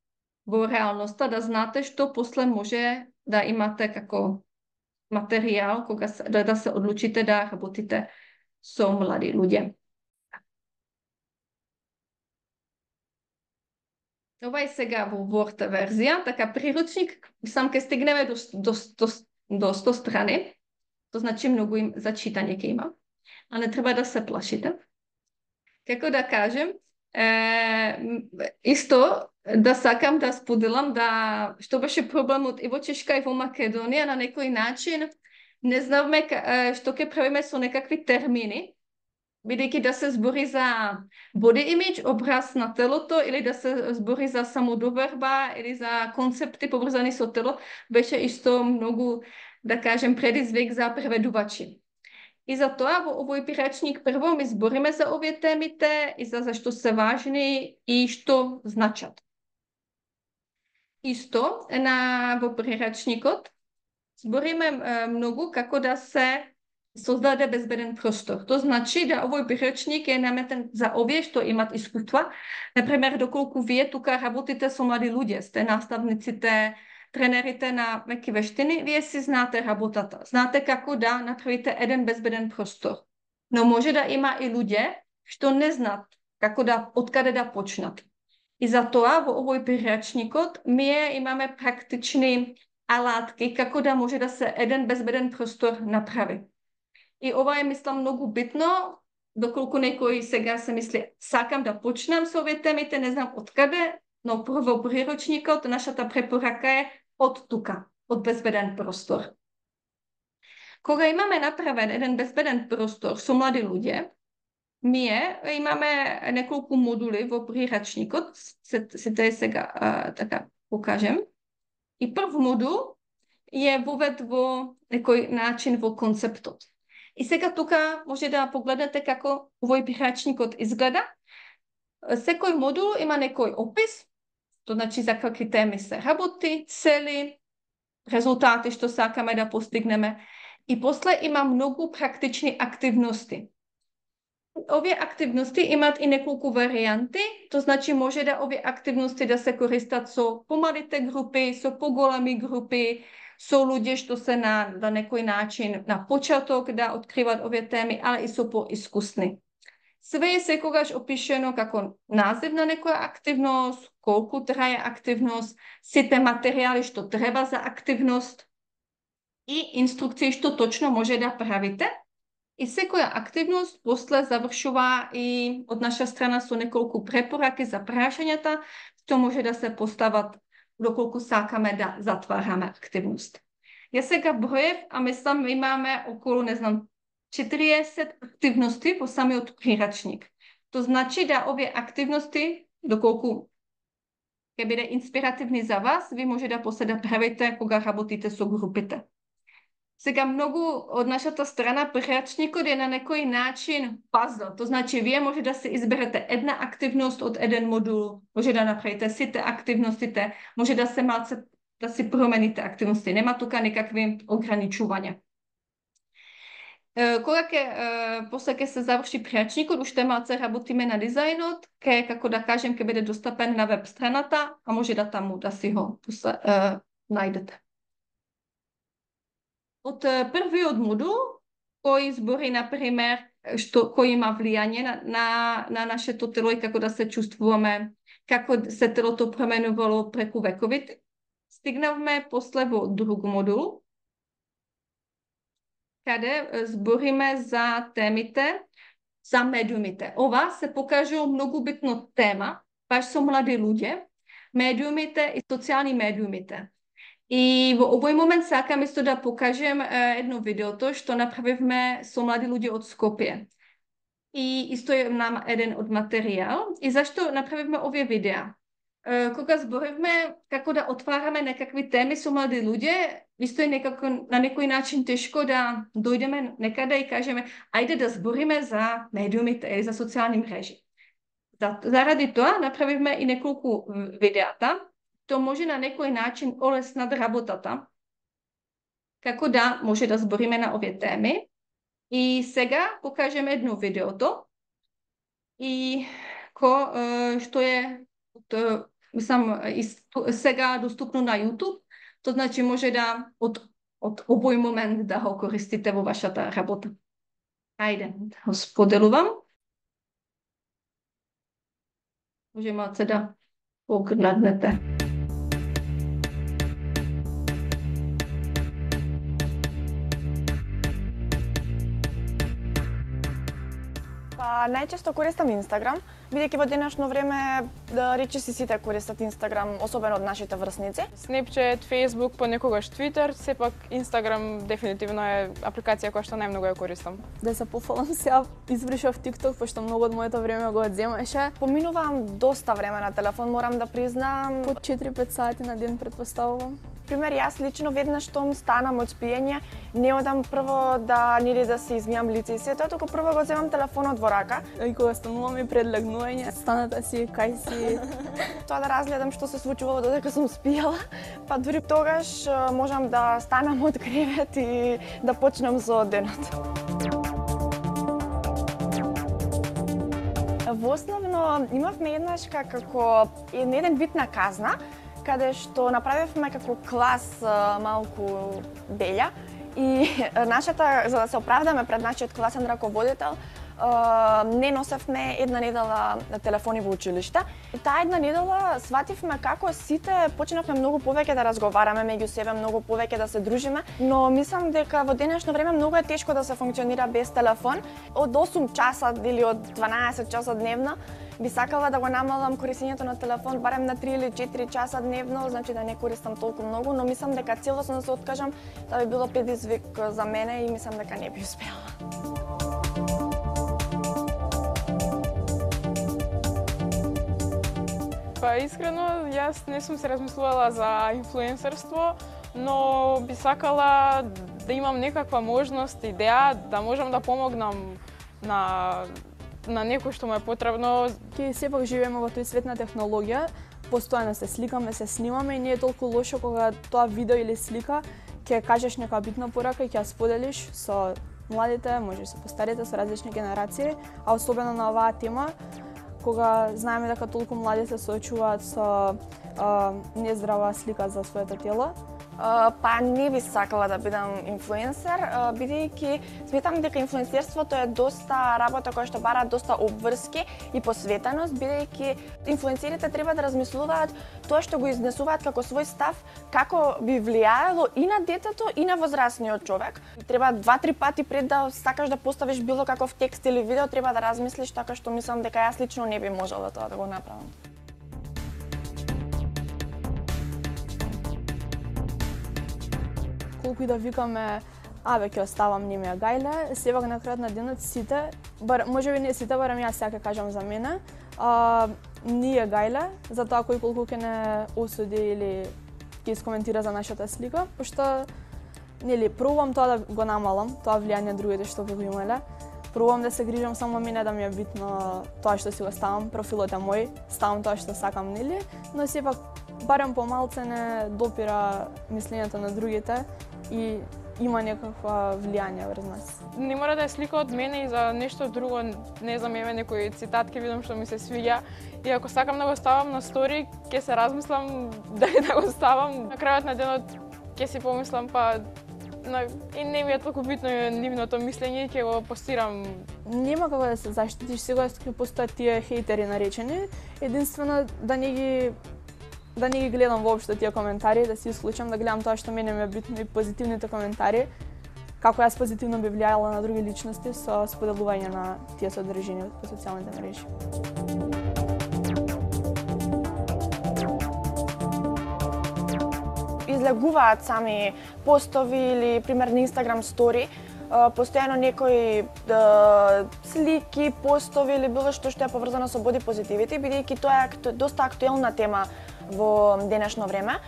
во реалноста, да знате што после може да имате како материјал кога се, да, да се одлучите да работите со млади луѓе. Ова е сега во Word верзија, така приручник, сам ке стигнеме до, до, до, до сто страни, то значи многу им за читање ке има, а не треба да се плашите. Како да кажем, е, исто да сакам да споделам да што беше проблемот и во Чешка и во Македонија на некој начин не знавме што ќе правиме со некакви термини, бидејќи да се збори за body image, образ на телото, или да се збори за самодоверба, или за концепти поврзани со тело, беше исто многу, да кажем, предизвик за преведувачи. И за тоа во овој приречник прво ми збориме за овие темите и за зашто се важни и што значат. Исто на во приречникот збориме е, многу како да се создаде безбеден простор. То значи да овој приречник е наметен за овие што имат искуства. Например, доколку вие тука работите со млади луѓе, сте наставниците, тренерите на меки вештини, вие си знаате работата. Знаате како да направите еден безбеден простор. Но може да има и луѓе што не знаат како да, откаде да почнат. И затоа во овој приречникот ние имаме практични алатки како да може да се еден безбеден простор направи. И ова е, мислам, многу битно, доколку некој сега се мисли, сакам да почнам со овие темите, не знам откаде, но прво приручникот, нашата препорака е од тука, од безбеден простор. Кога имаме направен еден безбеден простор со млади луѓе, ние имаме неколку модули во приручникот, сите сега а, така покажем. И прв модул е вовед во некој начин во концептот. И сега тука може да погледнете како овој приручникот изгледа. Секој модул има некој опис, то значи за какви теми се работи, цели, резултати што сакаме да постигнеме. И после има многу практични активности. Овие активности имаат и неколку варианти, то значи може да овие активности да се користат со помалите групи, со поголеми групи, со луѓе што се на, на некој начин на почеток да откриват овие теми, али и со поискусни. Све е секогаш опишено како назив на некоја активност, колку трае активност, сите материјали што треба за активност и инструкции што точно може да правите. И секоја активност после завршува и од наша страна со неколку препораки за прашањата што може да се постават доколку сакаме да затвараме активност. Ја сега броев, а мислам имаме околу, не знам, четириесет активности во самиот приручник. То значи да овие активности, доколку ќе биде инспиративни за вас, ви може да после да правите кога работите со групите. Сега многу од нашата страна приручникот е на некој начин пазл. То значи вие може да се изберете една активност од еден модул, може да направите сите активностите, може да се малце да си промените активности. Нема тука никакви ограничувања. Кога ќе после ќе се заврши приручникот, уште малце работиме на дизајнот, ке како да кажем ќе биде достапен на веб страната, а може да таму да си го uh, најдете. Од првиот модул, кој избори, например, што, кој има влијание на, на, на нашето тело и како да се чувствуваме, како се телото променувало преку вековите, стигнавме после во друг модул, каде збориме за темите, за медиумите. Ова се покажува многу битно тема, баш со млади луѓе, медиумите и социјални медиумите. И во овој момент сакам исто да покажем е, едно видеото што направивме со млади луѓе од Скопје. И исто е нам еден од материјал. И зашто направивме овие видеа? Е, кога зборивме како да отвараме некакви теми со млади луѓе, исто е некако на некој начин тешко да дојдеме некаде и кажеме ајде да збориме за медиумите или за социјални мрежи. Заради тоа направивме и неколку видеата. То може на некој начин олеснат работата, како да може да збориме на овие теми. И сега покажеме едно видеото, и ко, што е, мислам, сега доступно на YouTube, то значи може да од од овој момент да го користите во вашата работа? Ајде, да го споделувам. Може малце да погледнете. Па, најчесто користам Инстаграм, бидејќи во денешно време да речи си сите користат Инстаграм, особено од нашите врсници. Snapchat, Facebook, понекогаш Twitter, сепак Инстаграм дефинитивно е апликација која што најмногу ја користам. Да се пофалам, сега избришав TikTok, пошто многу од моето време го одземаше. Поминувам доста време на телефон, морам да признам. По четири-пет сати на ден предпоставувам. Пример, јас лично веднаш штом станам од спиење, не одам прво да нели да се измијам лице и се тоа, туку прво го земам телефонот во рака. И кога станувам и пред легнување, станата си, кај си. Тоа да разгледам што се случувало додека сум спиела, па дури тогаш можам да станам од кревет и да почнам со денот. Во основно имавме еднаш како еден вид на казна, каде што направивме како клас малку белја и нашата, за да се оправдаме пред нашиот класен раководител, не носевме една недела телефони во училиште. И таа една недела свативме како сите почнавме многу повеќе да разговараме меѓу себе, многу повеќе да се дружиме, но мислам дека во денешно време многу е тешко да се функционира без телефон. Од осум часа или од дванаесет часа дневно би сакала да го намалам користењето на телефон барем на три или четири часа дневно, значи да не користам толку многу, но мислам дека целосно да се откажам, тоа би било предизвик за мене и мислам дека не би успела. Па искрено, јас не сум се размислувала за инфлуенсерство, но би сакала да имам некаква можност, идеја, да можам да помогнам на на некој што му е потребно. Ке сепак живееме во тој свет на технологија, постојано се сликаме, се снимаме и не е толку лошо кога тоа видео или слика ќе кажеш нека битна порака и ќе ја споделиш со младите, може и со постарите, со различни генерации, а особено на оваа тема, кога знаеме дека толку млади се соочуваат со а, нездрава слика за своето тело. Uh, па не би сакала да бидам инфлуенсер, uh, бидејќи сметам дека инфлуенсерството е доста работа која што бара доста обврски и посветеност, бидејќи инфлуенсерите треба да размислуваат тоа што го изнесуваат како свој став, како би влијаело и на детето и на возрастниот човек. Треба два-три пати пред да сакаш да поставиш било каков текст или видео, треба да размислиш, така што мислам дека јас лично не би можела тоа да го направам. Колку и да викаме, абе, ќе оставам не ми е гајле, сепак на крајот на денот сите, бар, може би не сите, барем јас сега кажам за мене, а, ни е гајле, за тоа кој колку ќе не осуди или ќе искоментира за нашата слика, пошто, нели, пробувам тоа да го намалам, тоа влијание другите што би го имале, пробувам да се грижам само мене да ми е битно тоа што си го ставам, профилот е мој, ставам тоа што сакам, нели, но сепак барем помалце не допира мислењето на другите и има некаква влијание врз нас. Не мора да е слика од мене и за нешто друго, не знам, еве некој цитат ќе видам што ми се свиѓа и ако сакам да го ставам на стори, ќе се размислам дали да го ставам. На крајот на денот ќе си помислам, па на, и не ми е толку битно нивното мислење и ќе го постирам. Нема како да се заштитиш, сега ќе постојат тие хейтери наречени, единствено да не ги да не ги гледам воопшто тие коментари, да се исклучам, да гледам тоа што мене ми е битно и позитивните коментари, како јас позитивно би влијала на други личности со споделување на тие содржини по социјалните мрежи. Излегуваат сами постови или пример на Instagram стори, постојано некои да, слики, постови или било што што е поврзано со боди позитивити, бидејќи тоа е доста актуелна тема во денешно време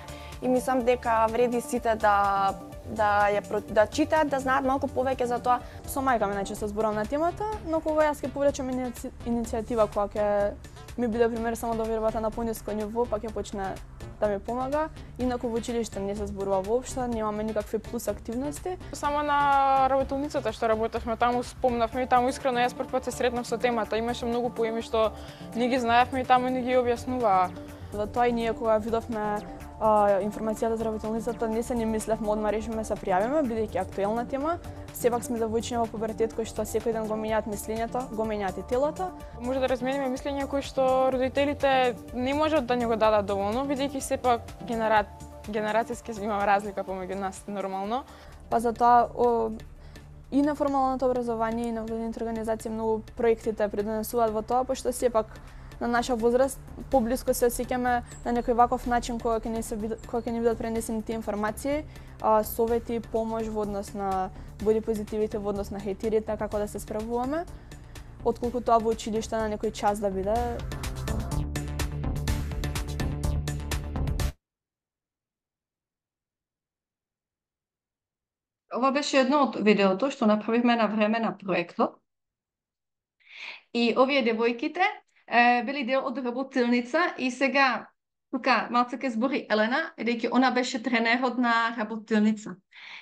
и мислам дека вреди сите да да ја да читаат, да знаат малку повеќе за тоа. Со мајка ми најчесто зборам на темата, но кога јас ќе повлечам иници... иницијатива која ќе ми биде пример само да вербата на пониско ниво, па ќе почне да ми помага. Инаку во училиште не се зборува воопшто, немаме никакви плюс активности. Само на работилницата што работевме таму спомнавме и таму искрено јас прв пат се сретнав со темата. Имаше многу поеми што не ги знаевме и таму не ги објаснуваа. За тоа и ние кога видовме а, информацијата за работилницата не се ни мислевме одма решиме се пријавиме, бидејќи актуелна тема. Сепак сме девојчиња во пубертет кои што секој ден го менјаат мислењето, го менјаат и телото. Може да размениме мислења кои што родителите не можат да ни го дадат доволно, бидејќи сепак генера... генерацијски има разлика помеѓу нас, нормално. Па затоа о, и неформалното образование и невладините организации многу проектите придонесуваат во тоа, пошто сепак на наша возраст поблиску се осеќаме на некој ваков начин кога ќе ни се кога ќе ни бидат пренесени тие информации, а, совети, помош во однос на боди позитивите, во однос на хејтерите, како да се справуваме, отколку тоа во училиште на некој час да биде. Ова беше едно од видеото што направивме на време на проектот. И овие девојките е, били дел од работилница и сега тука малце ке збори Елена, бидејќи она беше тренерот на работилница.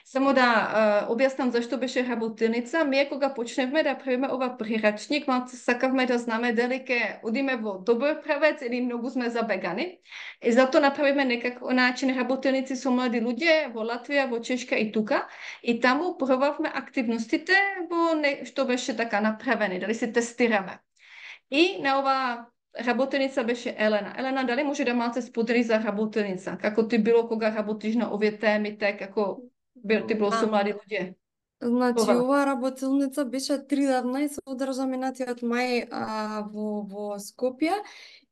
Само да е, објаснам зашто беше работилница. Ние кога почневме да правиме ова прирачник, малце сакавме да знаме дали ќе одиме во добар правец или многу сме забегани. И затоа направиме некако начин работилници со млади луѓе во Латвија, во Чешка и тука. И таму пробавме активностите во не, што беше така направени, дали се тестираме. И на ова работилница беше Елена. Елена, дали може да малце сподели за работилница? Како ти било кога работиш на овие темите, како ти било со млади луѓе? Значи, Ова. ова работилница беше тридневна и се одржа минатиот мај а, во, во Скопје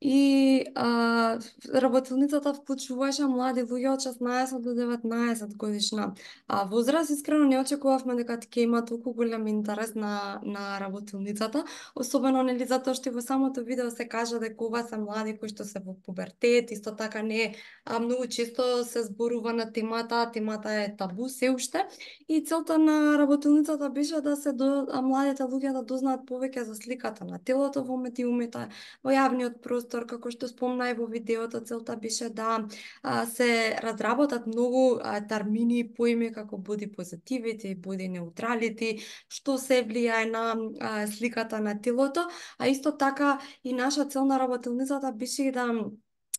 и а, работилницата вклучуваше млади луѓе од шеснаесет до деветнаесет годишна а, возраст. Искрено не очекувавме дека ќе има толку голем интерес на, на работилницата, особено нели затоа што во самото видео се кажа дека ова се млади кои што се во пубертет, исто така не а, многу често се зборува на темата, темата е табу се уште и целта на работилницата беше да се до а, младите луѓе да дознаат повеќе за сликата на телото во медиумите, во јавниот простор, како што спомна и во видеото, целта беше да а, се разработат многу а, термини и поими како боди позитивити, боди неутралити, што се влијае на а, сликата на телото, а исто така и наша цел на работилницата беше да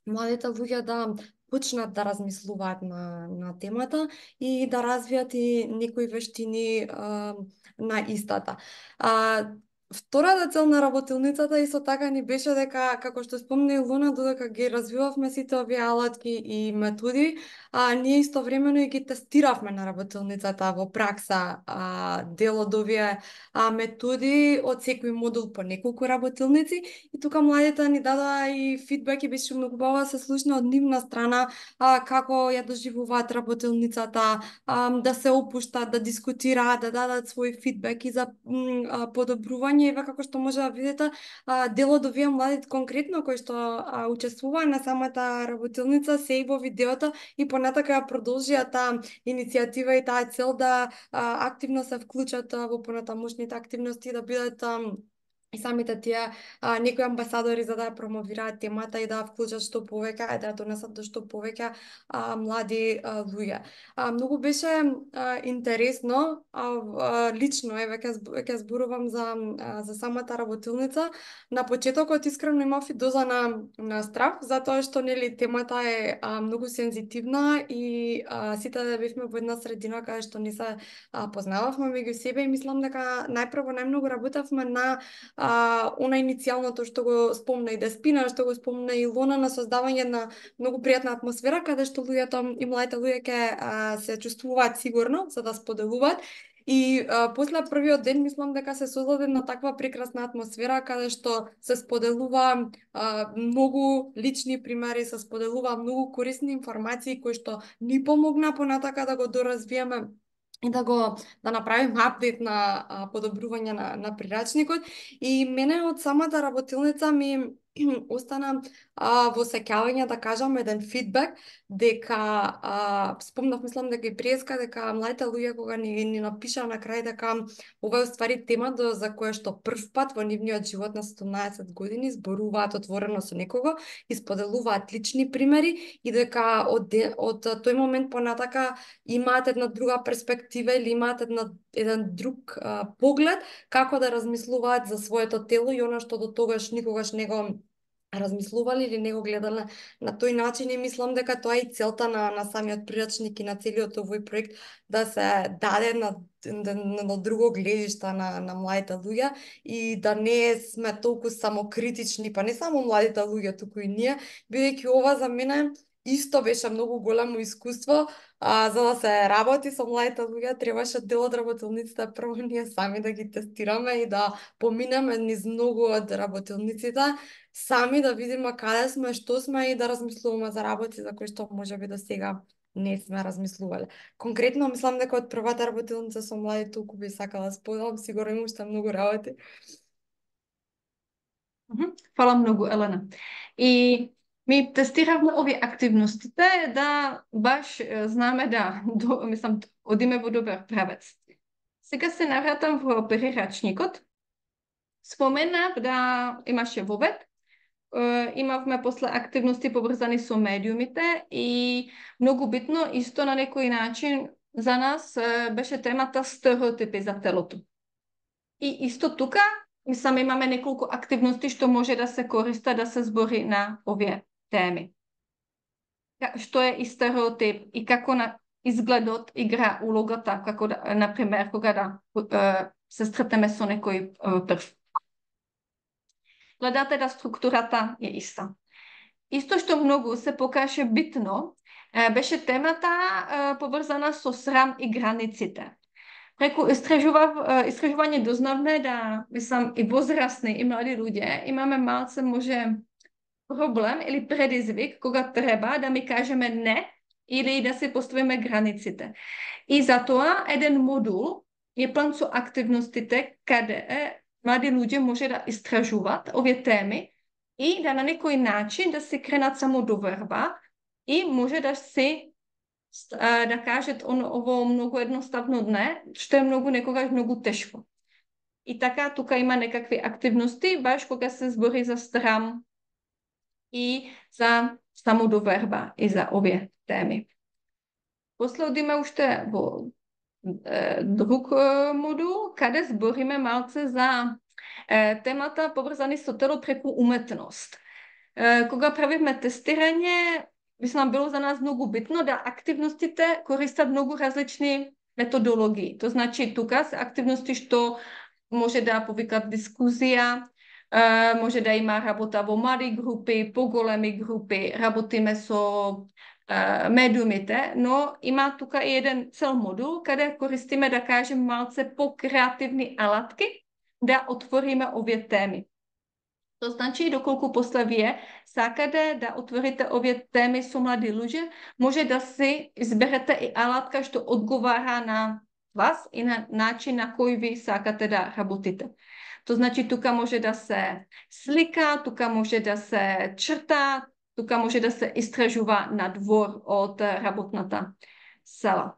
младите луѓе да почнат да размислуваат на, на темата и да развијат и некои вештини а, на истата. А, Втората цел на работилницата исто така ни беше дека, како што спомна Илона, додека ги развивавме сите овие алатки и методи, а, ние истовремено и ги тестиравме на работилницата во пракса а, дел од овие а, методи од секој модул по неколку работилници и тука младите ни дадоа и фидбек и беше многу убаво да се слушне од нивна страна а, како ја доживуваат работилницата, а, да се опуштат, да дискутираат, да дадат свој фидбек и за м, а, подобрување. Еве како што може да видите, дел од овие млади конкретно кои што а, учествуваа на самата работилница се и во видеото и понатака ја продолжија таа иницијатива и таа цел да а, активно се вклучат а, во понатамошните активности, да бидат а, и самите тие а, некои амбасадори за да ја промовираат темата и да ја вклучат што повеќе и да ја донесат до што повеќе а, млади а, луѓе. А, многу беше а, интересно, а, а, лично, еве ќе ќе зборувам за а, за самата работилница. На почетокот искрено имав и доза на на страх, затоа што нели темата е а, многу сензитивна и а, сите да бевме во една средина каде што не се а, познававме меѓу себе и мислам дека најпрво најмногу работевме на а, она иницијалното што го спомна и Деспина, што го спомна и Илона, на создавање на многу пријатна атмосфера каде што луѓето и младите луѓе ќе се чувствуваат сигурно за да споделуваат. И а, после првиот ден мислам дека се создаде на таква прекрасна атмосфера каде што се споделува а, многу лични примери, се споделува многу корисни информации кои што ни помогна понатака да го доразвиеме и да го да направиме апдейт на а, подобрување на, на прирачникот. И мене од самата работилница ми остана а, во сеќавање да кажам еден фидбек дека а, спомнав, мислам дека и преска дека младите луѓе кога ни, ни напиша на крај дека ова е уствари тема до, за која што прв пат во нивниот живот на седумнаесет години зборуваат отворено со некого и споделуваат лични примери и дека од, од тој момент понатака имаат една друга перспектива или имаат една, еден друг а, поглед како да размислуваат за своето тело и она што до тогаш никогаш не го размислувале или не го гледале на тој начин и мислам дека тоа е и целта на, на самиот прирачник и на целиот овој проект, да се даде на, на, на друго гледиште на, на младите луѓе и да не сме толку самокритични, па не само младите луѓе, туку и ние, бидејќи ова за мене исто беше многу големо искуство, а, за да се работи со младите луѓе, требаше дел од работилниците прво ние сами да ги тестираме и да поминеме низ многу од работилниците, сами да видиме каде сме, што сме и да размислуваме за работи за кои што можеби до сега не сме размислувале. Конкретно мислам дека од првата работилница со млади толку би сакала да споделам, сигурно има уште многу работи. Фала многу, Елена. И ми тестиравме овие активностите да баш знаме да, до, мислам, одиме во добар правец. Сега се навратам во прирачникот. Споменав да имаше вовед, имавме после активности поврзани со медиумите и многу битно, исто на некој начин за нас беше темата стереотипи за телото. И исто тука, мислам, имаме неколку активности што може да се користа да се збори на овие теми. Што е и стереотип и како на изгледот игра улогата, како да, например, кога да се сретнеме со некој прв. Гледате да структурата е иста. Исто што многу се покаже битно, беше темата поврзана со срам и границите. Преку истражување дознавме да, мислам, и возрастни и млади луѓе имаме малце може проблем или предизвик кога треба да ми кажеме не или да се поставиме границите. И затоа еден модул е план со активностите каде е млади луѓе може да истражуваат овие теми и да на некој начин да се кренат самодоверба и може да се да кажат ово многу едноставно не, што е многу некогаш многу тешко. И така тука има некакви активности баш кога се збори за срам и за самодоверба и за овие теми. После одиме уште во е, друг е, модул, каде збориме малце за е, темата поврзани со тело преку уметност. Е, кога правиме тестирање, мислам, било за нас многу битно да активностите користат многу различни методологии. То значи тука се активности што може да повикат дискусија, Uh, може да има работа во мали групи, поголеми групи, работиме со uh, медиумите, но има тука и еден цел модул каде користиме, да кажем, малце по-креативни алатки да отвориме овие теми. То значи, доколку после вие сакате да отворите овие теми со млади луѓе, може да се изберете и алатка што одговара на вас и на начин на кој ви сакате да работите. То значи, тука може да се слика, тука може да се чрта, тука може да се истражува на двор од работната сала.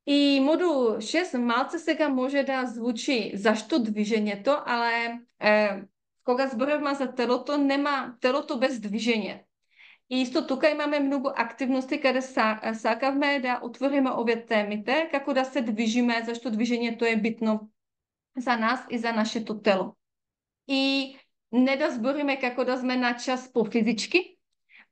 И модул шест малце сега може да звучи зашто движењето, але е, кога зборуваме за телото, нема телото без движење. И исто тука имаме многу активности каде сакавме да отвориме овие темите, како да се движиме, зашто движењето е битно за нас и за нашето тело. И не да збориме како да сме на час по физички,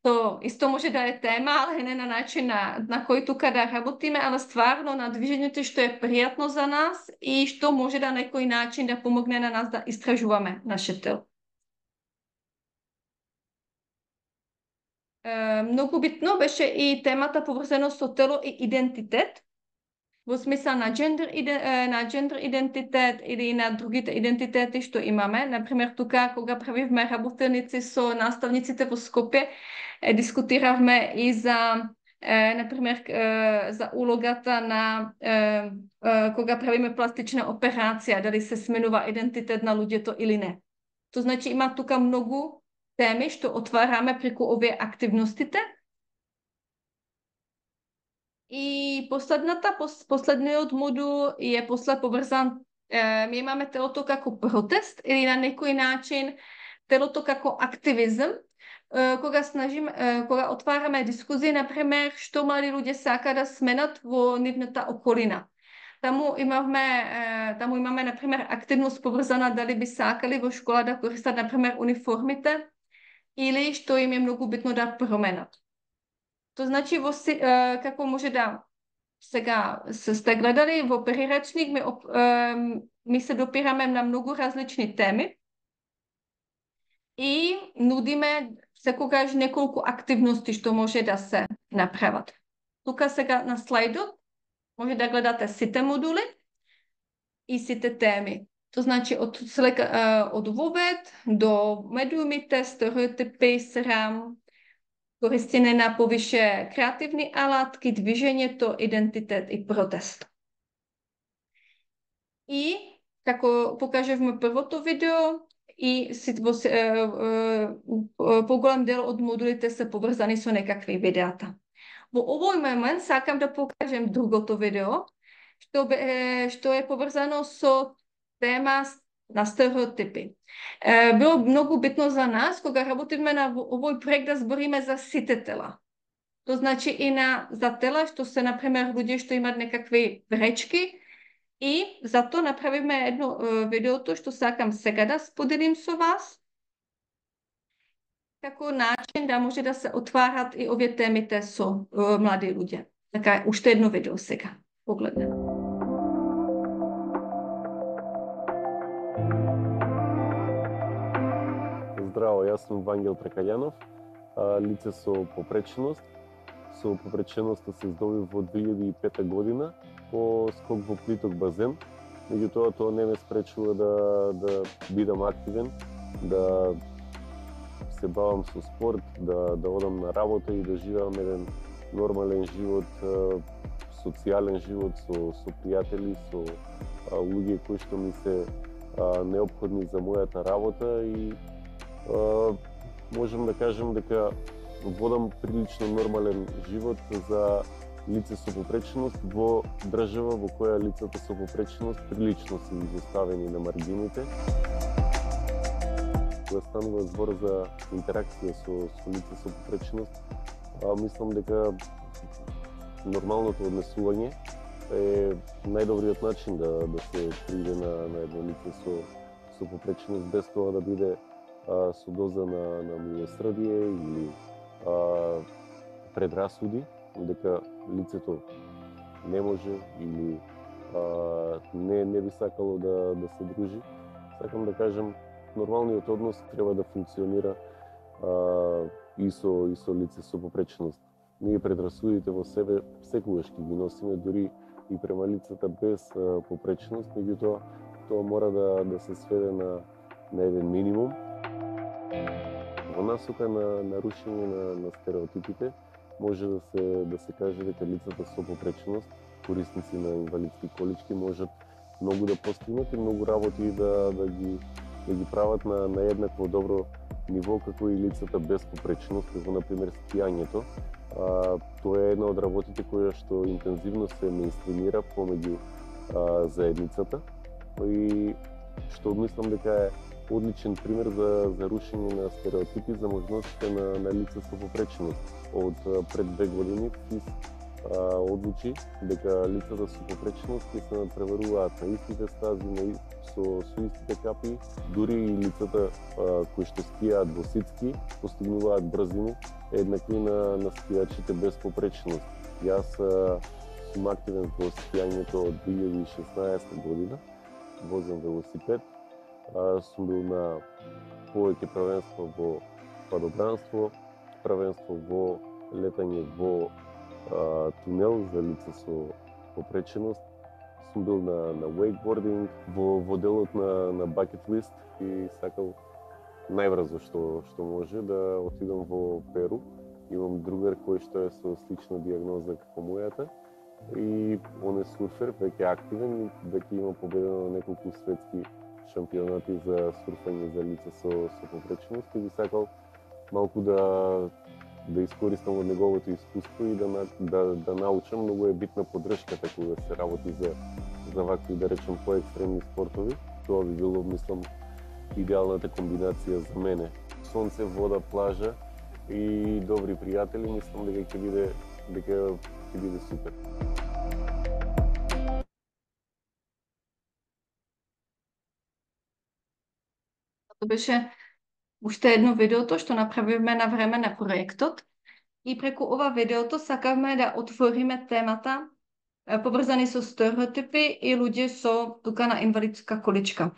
то исто може да е тема, але не на начин на, на кој тука да работиме, але стварно на движењето што е пријатно за нас и што може да на некој начин да помогне на нас да истражуваме наше тело. Е, многу битно беше и темата поврзано со тело и идентитет, во смисла на джендер, на джендер идентитет или на другите идентитети што имаме. Например, тука, кога правивме работилници со наставниците во Скопје, дискутиравме и за, е, например, е, за улогата на е, е, кога правиме пластична операција, дали се сменува идентитет на луѓето или не. То значи има тука многу теми што отвараме преку овие активностите. И последната, последниот модул е после поврзан, е, ми имаме телото како протест или на некој начин телото како активизм, е, кога снажим, е, кога отвараме дискусија, например, што млади луѓе сака да сменат во нивната околина. Таму имавме, е, таму имаме, например, активност поврзана дали би сакали во школа да користат, например, униформите или што им е многу битно да променат. То значи, во, си- е, како може да сега се сте гледали во приречник, ми, оп- е, ми се допираме на многу различни теми и нудиме секогаш неколку активности што може да се направат. Тука сега на слайдот може да гледате сите модули и сите теми. То значи од, слека, од вовед до медиумите, стереотипи, срам, користење на повише креативни алатки, движењето, идентитет и протест. И, како покажевме првото видео, и во, е, е, поголем дел од модулите се поврзани со некакви видеата. Во овој момент сакам да покажем другото видео, што, е, што е поврзано со тема на стереотипи. Е, било многу битно за нас, кога работиме на овој проект, да збориме за сите тела. То значи и на, за тела што се, например, луѓе што имат некакви пречки, и затоа направиме едно е, видеото што сакам сега да споделим со вас, како начин да може да се отварат и овие темите со е, млади луѓе. Така, уште едно видео сега. Погледнем. Здраво, јас сум Вангел Прекајанов, лице со попреченост. Со попреченоста се здобив во две илјади и пета година по скок во плиток базен. Меѓутоа, тоа не ме спречува да, да бидам активен, да се бавам со спорт, да, да одам на работа и да живеам еден нормален живот, социјален живот со, со пријатели, со а, луѓе кои што ми се а, неопходни за мојата работа и а, можам да кажем дека водам прилично нормален живот за лице со попреченост во држава во која лицата со попреченост прилично се изоставени на маргините. Кога станува збор за интеракција со, со лице со попреченост, а, мислам дека нормалното однесување е најдобриот начин да, да се пријде на, на едно лице со, со попреченост, без тоа да биде а, со доза на, на милосрдие или а, предрасуди, дека лицето не може или а, не, не би сакало да, да се дружи. Сакам да кажем, нормалниот однос треба да функционира а, и, со, и со лице со попреченост. Ние предрасудите во себе секогаш ги носиме, дури и према лицата без а, попреченост, меѓутоа тоа мора да, да се сведе на, на еден минимум. Во насока на нарушение на, на стереотипите, може да се, да се каже дека лицата со попреченост, корисници на инвалидски колички, можат многу да постигнат и многу работи да, да, ги, да ги прават на, на еднакво добро ниво како и лицата без попреченост, како например скијањето. А, тоа е една од работите која што интензивно се меинстримира помеѓу а, заедницата и што мислам дека е одличен пример за, за рушење на стереотипи за можностите на, на лица со попреченост. Од пред две години ФИС а, одлучи дека лицата со попреченост ќе се надпреваруваат на истите стази, на, со, со истите капи, дури и лицата а, кои што скијаат во ситски постигнуваат брзини еднакви на, на скијачите без попреченост. Јас а, сум активен во скијањето од две илјади и шеснаесета година, возам велосипед. А, сум бил на повеќе првенство во падобранство, првенство во летање во а, тунел за лица со попреченост. Сум бил на, на wakeboarding, во, во делот на, на bucket list и сакал најбрзо што, што може да отидам во Перу. Имам другар кој што е со слична дијагноза како мојата и он е сурфер, веќе активен, веќе има победено на неколку светски шампионати за сурфање за лица со, со попреченост и би сакал малку да да искористам од неговото искуство и да, да, да научам. Многу е битна поддршката кога се работи за, за вакви, да речем, поекстремни спортови. Тоа би било, мислам, идеалната комбинација за мене. Сонце, вода, плажа и добри пријатели, мислам дека ќе биде дека ќе биде супер. To беше уште едно видеото што направивме на време на проектот. И преку ова видеото сакавме да отвориме темата поврзани со стереотипи и луѓе со тука на инвалидска количка.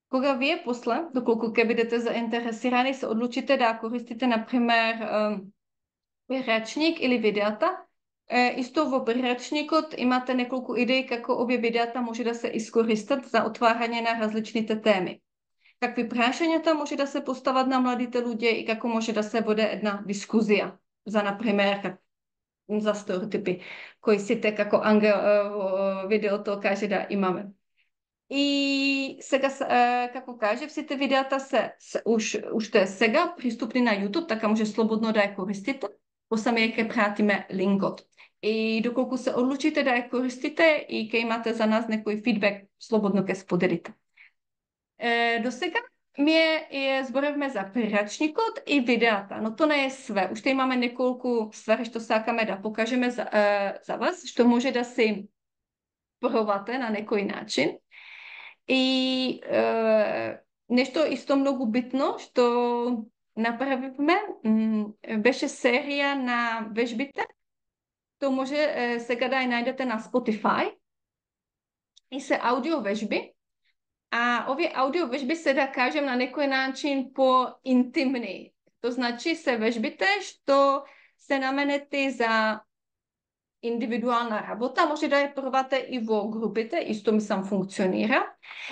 Кога вие после, доколку ќе бидете заинтересирани, се одлучите да користите, например, приречник или видеата, исто во приречникот имате неколку идеи како овие видеата може да се искористат за отварање на различните теми. Какви прашањата може да се постават на младите луѓе и како може да се воде една дискусија за, например, за стереотипи, кои сите како Ангел во видеото каже да имаме. И сега, како кажев, сите видеата се, се уш, уште сега приступни на YouTube, така може слободно да ја користите. Посаме ќе пратиме линкот. И доколку се одлучите да ја користите и ќе имате за нас некој фидбек, слободно ќе споделите. Е, до сега Ние е зборевме за приречникот и видеата, но тоа не е све. Уште имаме неколку ствари што сакаме да покажеме за, е, за вас, што може да се пробате на некој начин. И е, нешто исто многу битно што направивме, беше серија на вежбите. Тоа може е, сега да ја најдете на Spotify. И се аудио вежби. А овие аудио вежби се, да кажем, на некој начин по-интимни. То значи се вежбите што се наменети за индивидуална работа, може да ја пробате и во групите, исто мислам функционира.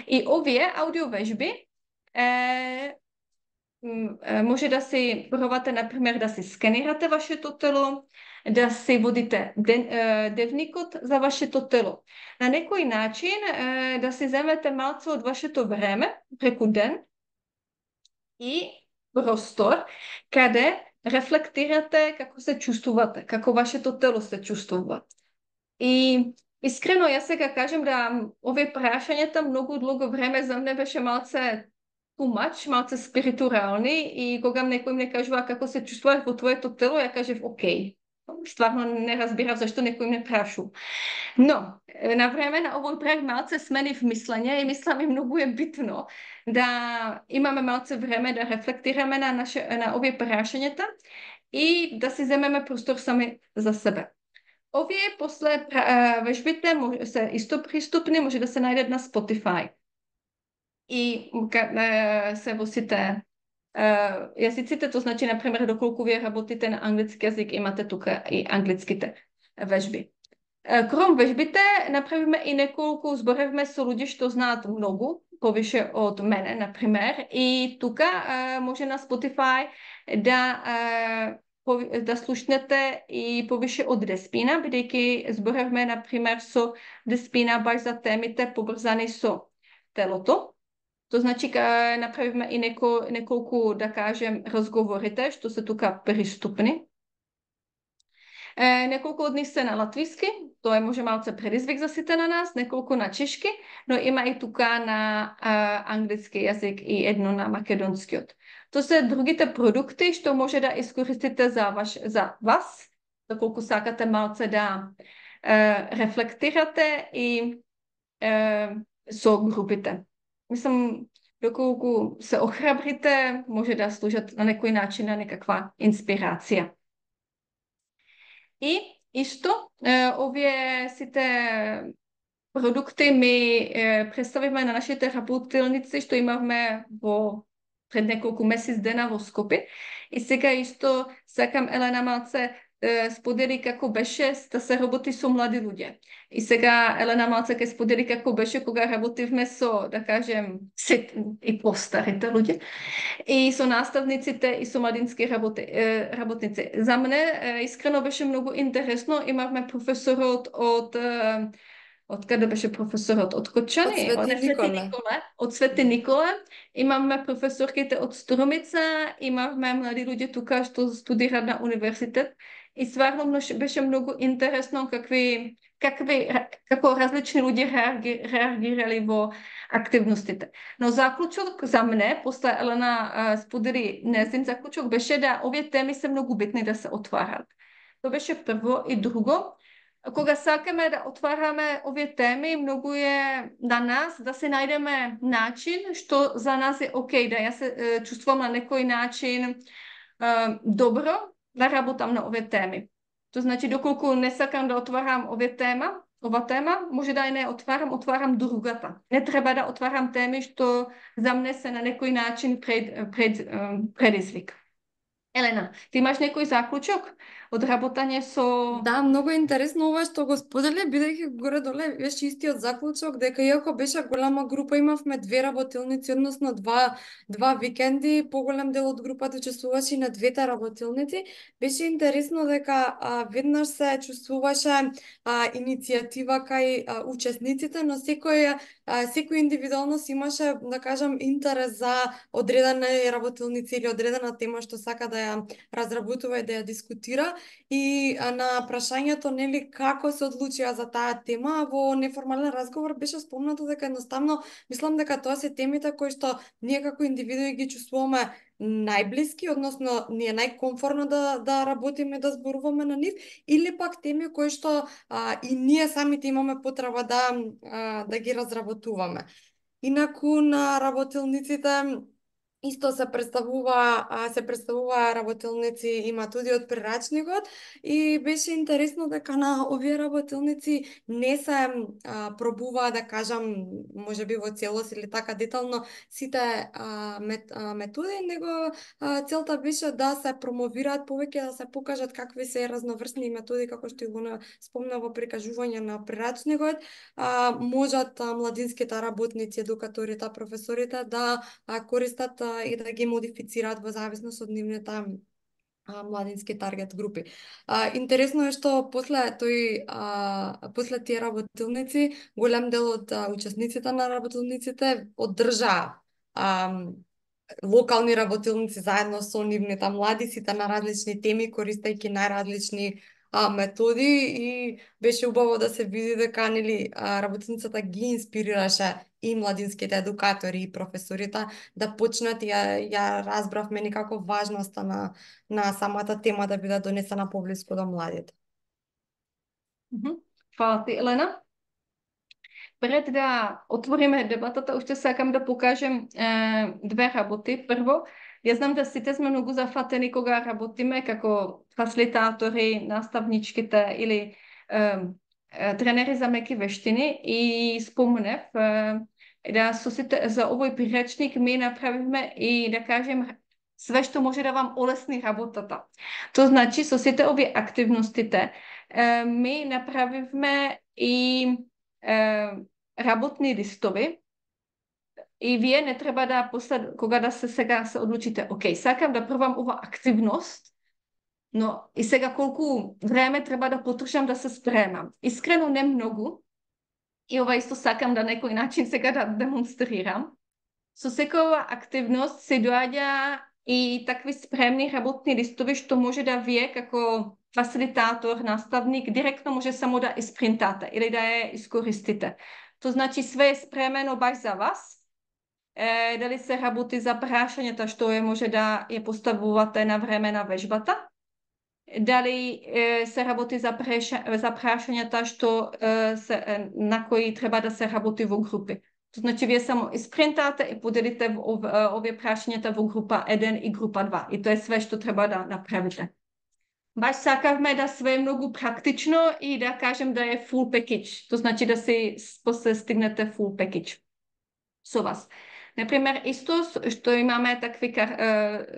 И овие аудио вежби е, може да се пробате, например, да се сканирате вашето тело, да се водите ден, е, дневникот за вашето тело. На некој начин е, да се земете малце од вашето време преку ден и простор, каде рефлектирате како се чувствувате, како вашето тело се чувствува. И искрено, јас сега кажем да овие прашањата многу долго време за мене беше малце too much, малце спиритуални, и кога некој ми кажува како се чувствуваш во твоето тело, ја кажев окей. Стварно не разбирав зашто некој ме прашу. Но, на време на овој проект малце сменив мислење и мислам и многу е битно да имаме малце време да рефлектираме на, наше, на овие прашањата и да си земеме простор сами за себе. Овие после вежбите се исто приступни, може да се најдат на Spotify. И се во сите Uh, јазиците, то значи, например, доколку вие работите на англиски јазик, имате тука и англиските вежби. Uh, Кром вежбите направиме и неколку, зборевме со луѓе што знаат многу, повише од мене, например, и тука uh, може на Spotify да, uh, да слушнете и повише од Деспина, бидејќи зборевме, например, со Деспина баш за темите поврзани со телото. То значи, ка направиме и неко, неколку, да кажем, разговорите, што се тука приступни. Е, неколку од нив се на латвиски, тоа е може малце предизвик за сите на нас, неколку на чешки, но има и тука на а, англиски јазик и едно на македонскиот. Тоа се другите продукти што може да искористите за, ваш, за вас, доколку сакате малце да е, рефлектирате и е, со групите. Мислам, доколку се охрабрите, може да служат на некој начин на некаква инспирација. И исто, е, овие сите продукти ми е, представиме на нашите работилници што имавме во пред неколку месец дена во Скопје. И сега исто сакам Елена малце сподели како беше да се работи со млади луѓе. И сега Елена малце ќе сподели како беше кога работивме со, да кажем, сет и постарите луѓе, и со наставниците и со младински работи, работници. За мене искрено беше многу интересно. Имавме професорот од од каде беше професорот? Од Кочани? Од Свети Николе. Николе. Од Свети Николе. Имавме професорките од Струмица, имавме млади луѓе тука што студираат на универзитет. И стварно беше многу интересно какви, какви, како различни луѓе реагирали во активностите. Но заклучок за мене, после Елена сподели незин заклучок, беше да овие теми се многу битни да се отварат. Тоа беше прво. И друго, Кога сакаме да отвараме овие теми, многу е на нас да се најдеме начин што за нас е окей, да ја се е, чувствувам на некој начин е, добро да работам на овие теми. То значи, доколку не сакам да отварам овие тема, ова тема, може да ја не отварам, отварам другата. Не треба да отварам теми што за мене се на некој начин пред, пред, предизвик. Елена, ти имаш некој заклучок од работање со... Да, многу е интересно ова што го сподели, бидејќи горе-доле беше истиот заклучок, дека иако беше голема група, имавме две работилници, односно два, два викенди, поголем дел од групата учествуваше и на двете работилници. Беше интересно дека а, веднаш се чувствуваше а, иницијатива кај а, учесниците, но секој, а, секој индивидуално си имаше, да кажам, интерес за одредена работилница или одредена тема што сака да ја разработува и да ја дискутира. И а, на прашањето, нели, како се одлучија за таа тема, во неформален разговор беше спомнато дека едноставно мислам дека тоа се темите кои што ние како индивидуи ги чувствуваме најблиски, односно ни е најкомфортно да да работиме, да зборуваме на нив, или пак теми кои што а, и ние самите имаме потреба да а, да ги разработуваме. Инаку на работилниците исто се представува, се представува работилници и матуди од прирачникот и беше интересно дека на овие работилници не се а, пробува, да кажам, можеби во целост или така детално сите а, мет, а, методи, него а, целта беше да се промовираат повеќе, да се покажат какви се разноврсни методи, како што го спомна во прикажување на прирачникот, а, можат а, младинските работници, едукаторите, професорите да а, користат а, и да ги модифицираат во зависност од нивните а, младински таргет групи. А, интересно е што после тој а, после тие работилници голем дел од а, учесниците на работилниците одржаа а, локални работилници заедно со нивните млади, сите на различни теми, користејќи најразлични а, методи и беше убаво да се види дека нели работилницата ги инспирираше и младинските едукатори и професорите да почнат и ја, ја разбравме некако важноста на, на самата тема да биде донесена поблиску до младите. Фала ти, Елена. Пред да отвориме дебатата, уште сакам да покажем е, две работи. Прво, ја знам да сите сме многу зафатени кога работиме како фасилитатори, наставничките или е, е, тренери за меки вештини и спомнев е, да со сите за овој приречник ми направивме и да кажем све што може да вам олесни работата. То значи со сите овие активностите е, ми направивме и е, работни листови и вие не треба да послед, кога да се сега се одлучите, окей, сакам да пробам ова активност, но и сега колку време треба да потрушам да се спремам. Искрено не многу, и ова исто сакам да некој начин сега да демонстрирам. Со секоја активност се доаѓа и такви спремни работни листови што може да вие како фасилитатор, наставник, директно може само да испринтате или да ја искористите. То значи све е спремено баш за вас. Е, дали се работи за прашањата што е може да ја поставувате на време на вежбата, дали е, се работи за, преша, за прашањата што е, се, е, на кои треба да се работи во групи. То значи вие само испринтате и поделите ов, овие прашањата во група еден и група два. И тоа е све што треба да направите. Баш сакавме да све е многу практично и да кажем да е full package. То значи да се после стигнете full package со вас. Например, исто што имаме такви,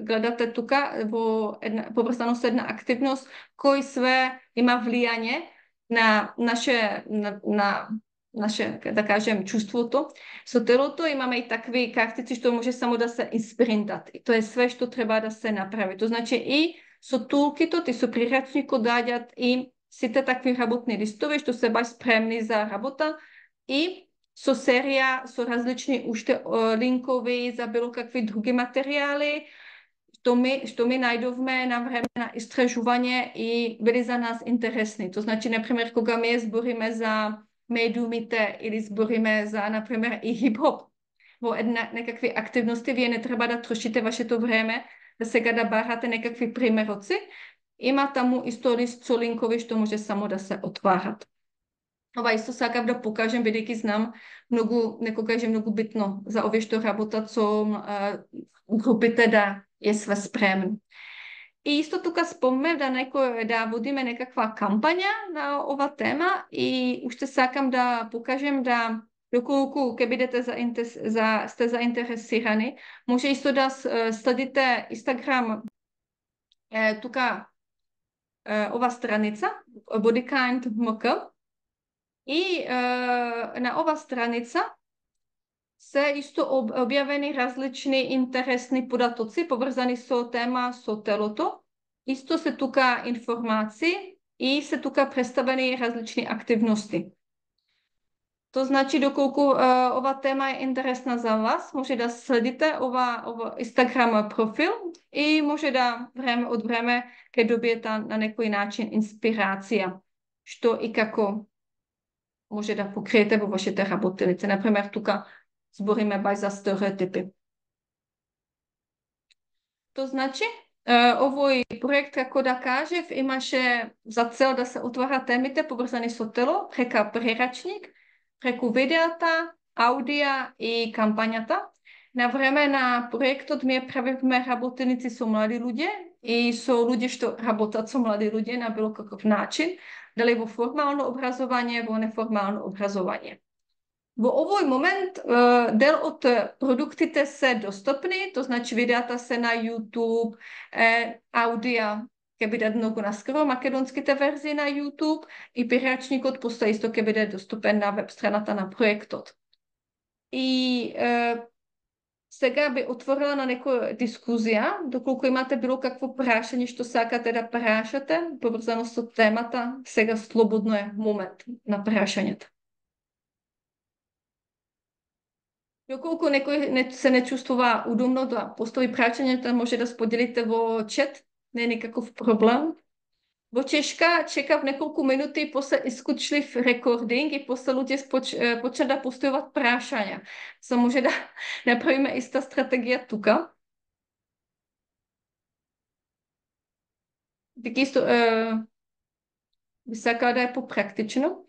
гледате тука во една, поврзано со една активност кој све има влијање на наше, на, на наше, да кажем, чувството. Со телото имаме и такви картици што може само да се испринтат. И тоа е све што треба да се направи. То значи и со тулкитот и со прирачникот доаѓаат и сите такви работни листови што се баш спремни за работа и со серија, со различни уште линкови за било какви други материјали што ми, што ми најдовме на време на истражување и били за нас интересни. То значи, например, кога ми збориме за медиумите или збориме за, например, и хип-хоп во една, некакви активности, вие не треба да трошите вашето време да сега да барате некакви примероци, Има таму исто лист со линкови што може само да се отварат. Ова исто сакав да покажем, бидејќи знам многу, некогаш е многу битно за овие што работат со а, групите да е све спремно. И исто тука спомнав да некој да водиме некаква кампања на ова тема и уште сакам да покажем да доколку ќе бидете за, за сте заинтересирани, може исто да следите Инстаграм е, тука е, ова страница Bodykind ем ка и е, на ова страница се исто објавени различни интересни податоци поврзани со тема со телото. Исто се тука информации и се тука представени различни активности. То значи доколку uh, ова тема е интересна за вас, може да следите ова, ова Инстаграм профил и може да време од време ќе добиете на некој начин инспирација што и како може да покриете во вашите работилници. Например, тука збориме бај за стереотипи. То значи, овој проект, како да кажев, имаше за цел да се отвара темите поврзани со тело, прека прерачник, преку видеата, аудија и кампањата. На време на проектот ми правивме работеници со млади луѓе и со луѓе што работат со млади луѓе на било каков начин, дали во формално образование, во неформално образование. Во овој момент дел од продуктите се достапни, то значи видеата се на YouTube, аудија ќе биде многу наскоро, македонските верзии на YouTube и прирачникот постои исто ќе биде доступен на веб страната на проектот. И е, сега би отворила на некоја дискусија, доколку имате било какво прашање што сакате да прашате, поврзано со темата, сега слободно е момент на прашањата. Доколку некој не, се не чувствува удобно да постави прашањата, може да споделите во чат, не е никаков проблем. Во Чешка чекав неколку минути и после искучлив рекординг и после луѓе поч, почна да постојуват прашања. Со може да направиме иста стратегија тука. Така исто е, би сакала да е попрактично.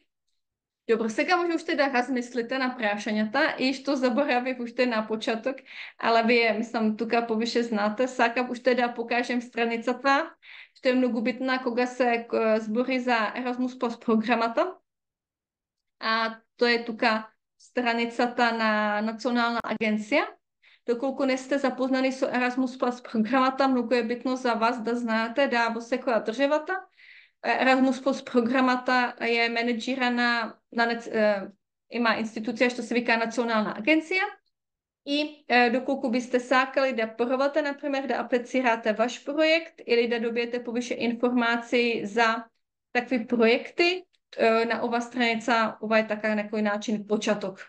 Добро, сега може уште да размислите на прашањата и што заборавив уште на почеток, ала вие, мислам, тука повише знате, сакам уште да покажем страницата, што е многу битна кога се збори за Erasmus Plus програмата. А тоа е тука страницата на Национална агенција. Доколку не сте запознани со Erasmus Plus програмата, многу е битно за вас да знаете да во секоја државата Erasmus Plus програмата е менеджирана, на, е, има институција што се вика Национална агенција и е, доколку бисте сакали да пробате, например, да аплицирате ваш проект или да добиете повише информации за такви проекти, е, на ова страница, ова е така некој начин почеток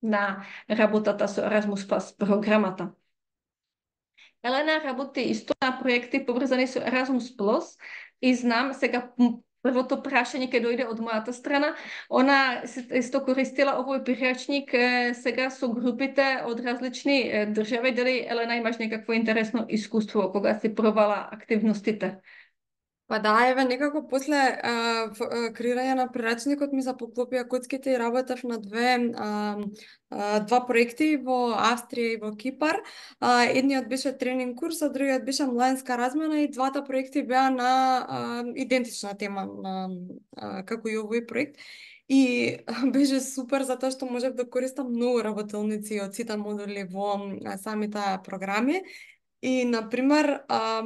на работата со Erasmus Plus програмата. Елена работи исто на проекти поврзани со Erasmus Plus и знам, сега првото прашање ќе дојде од мојата страна, она исто користила овој прирачник сега со групите од различни држави, дали Елена имаш некакво интересно искуство кога си пробала активностите? Па да, еве некако после а, в, а, креирање на прирачникот ми запоклопија коцките и работев на две а, а, два проекти во Австрија и во Кипар. А, едниот беше тренинг курс, а другиот беше младинска размена и двата проекти беа на а, идентична тема на а, како и овој проект. И беше супер затоа што можев да користам многу работилници од сите модули во а, самите програми. И, например, а,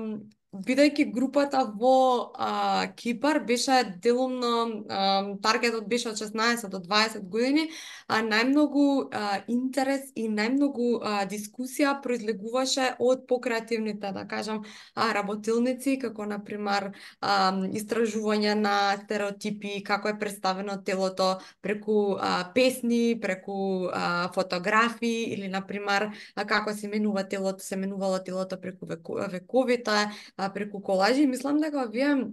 бидејќи групата во а, Кипар беше делумно, а, таргетот беше од шеснаесет до дваесет години, а најмногу а, интерес и најмногу а, дискусија произлегуваше од покреативните, да кажам, а, работилници, како, например, а, истражување на стереотипи, како е представено телото преку а, песни, преку а, фотографии или, например, а, како се менува телото, се менувало телото преку вековите, преку колажи. Мислам дека овие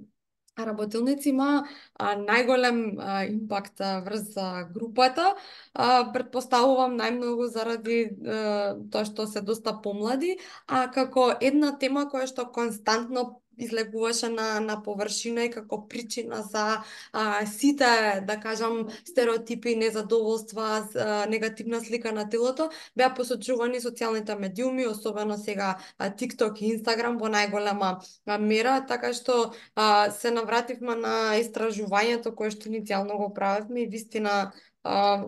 работилници има а, најголем а, импакт а, врз а, групата. А, предпоставувам најмногу заради а, тоа што се доста помлади, а како една тема која што константно излегуваше на на површина и како причина за а, сите, да кажам, стереотипи, незадоволства, а, негативна слика на телото, беа посочувани социјалните медиуми, особено сега а, TikTok и Instagram во најголема а, мера, така што а, се навративме на истражувањето кое што иницијално го правевме и вистина а,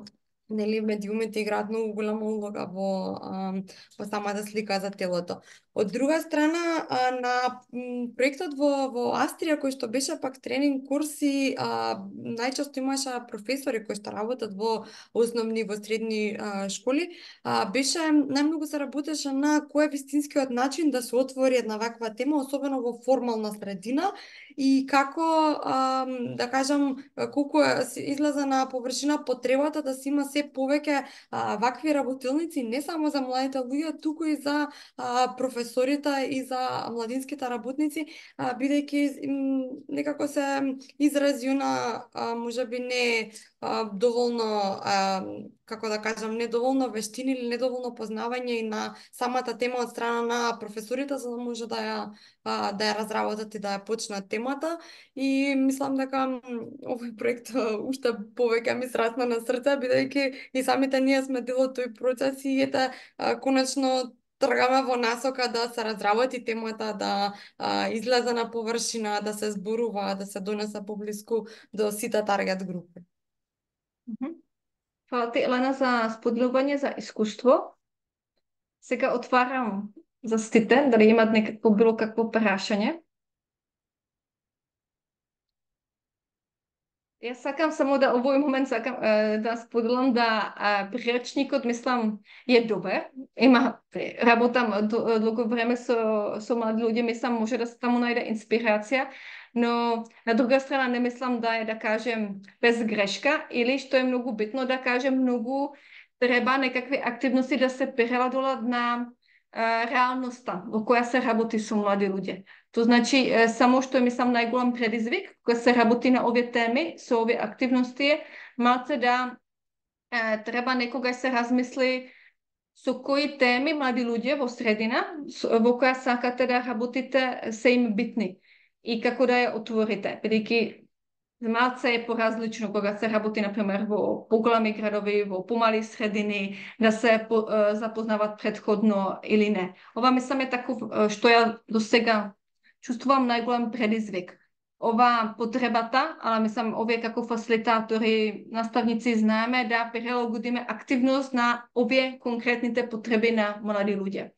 нели медиумите играат многу голема улога во а, во самата слика за телото. Од друга страна, а, на м, проектот во во Австрија кој што беше пак тренинг курси, а, најчесто имаше професори кои што работат во основни и во средни а, школи, а, беше најмногу се работеше на кој е вистинскиот начин да се отвори една ваква тема, особено во формална средина и како а, да кажам колку е се излезе на површина потребата да се има се повеќе а, вакви работилници не само за младите луѓе, туку и за а, професорите и за младинските работници, а, бидејќи м, некако се изрази на можеби не а, доволно а, како да кажам, недоволно вештини или недоволно познавање и на самата тема од страна на професорите за да може да ја а, да ја разработат и да ја почнат темата и мислам дека м, овој проект а, уште повеќе ми срасна на срце бидејќи и самите ние сме дел од тој процес и ете а, конечно тргаме во насока да се разработи темата, да а, излезе на површина, да се зборува, да се донесе поблиску до сите таргет групи. Hvala ti, Elena, za spodľovanie, za iskustvo. Сега отварам за сите, дали имат некакво било какво прашање. Јас сакам само да овој момент сакам е, да споделам да е, приречникот мислам е добар. Има работам долго време со со млади луѓе, мислам може да се таму најде инспирација, но на друга страна не мислам да е да кажем без грешка или што е многу битно да кажем многу треба некакви активности да се преладолат на е, реалноста во која се работи со млади луѓе. То значи, само што е, мислам, најголем предизвик, кога се работи на овие теми, со овие активности е, малце да е, треба некогаш се размисли со кои теми млади луѓе во средина, во која сакате да работите, се им битни и како да ја отворите. Бидејќи малце е поразлично кога се работи, например, во поголеми градови, во помали средини, да се по, е, запознават предходно или не. Ова, мислам, е таков, што ја до сега чувствувам најголем предизвик. Ова потребата, ала мислам, овие како фасилитатори, наставници знаеме да прилагодиме активност на овие конкретните потреби на млади луѓе.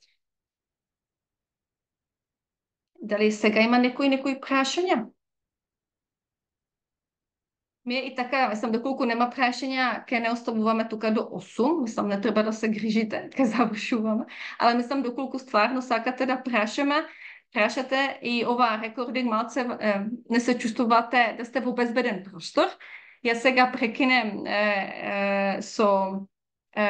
Дали сега има некои некои прашања? Ми и така, мислам, доколку нема прашања, ке не оставуваме тука до осум, мислам, не треба да се грижите, ке завршуваме, ала мислам, доколку стварно сакате да прашаме, прашате и ова рекординг малце е, не се чувствувате да сте во безбеден простор. Јас сега прекинем е, е, со е,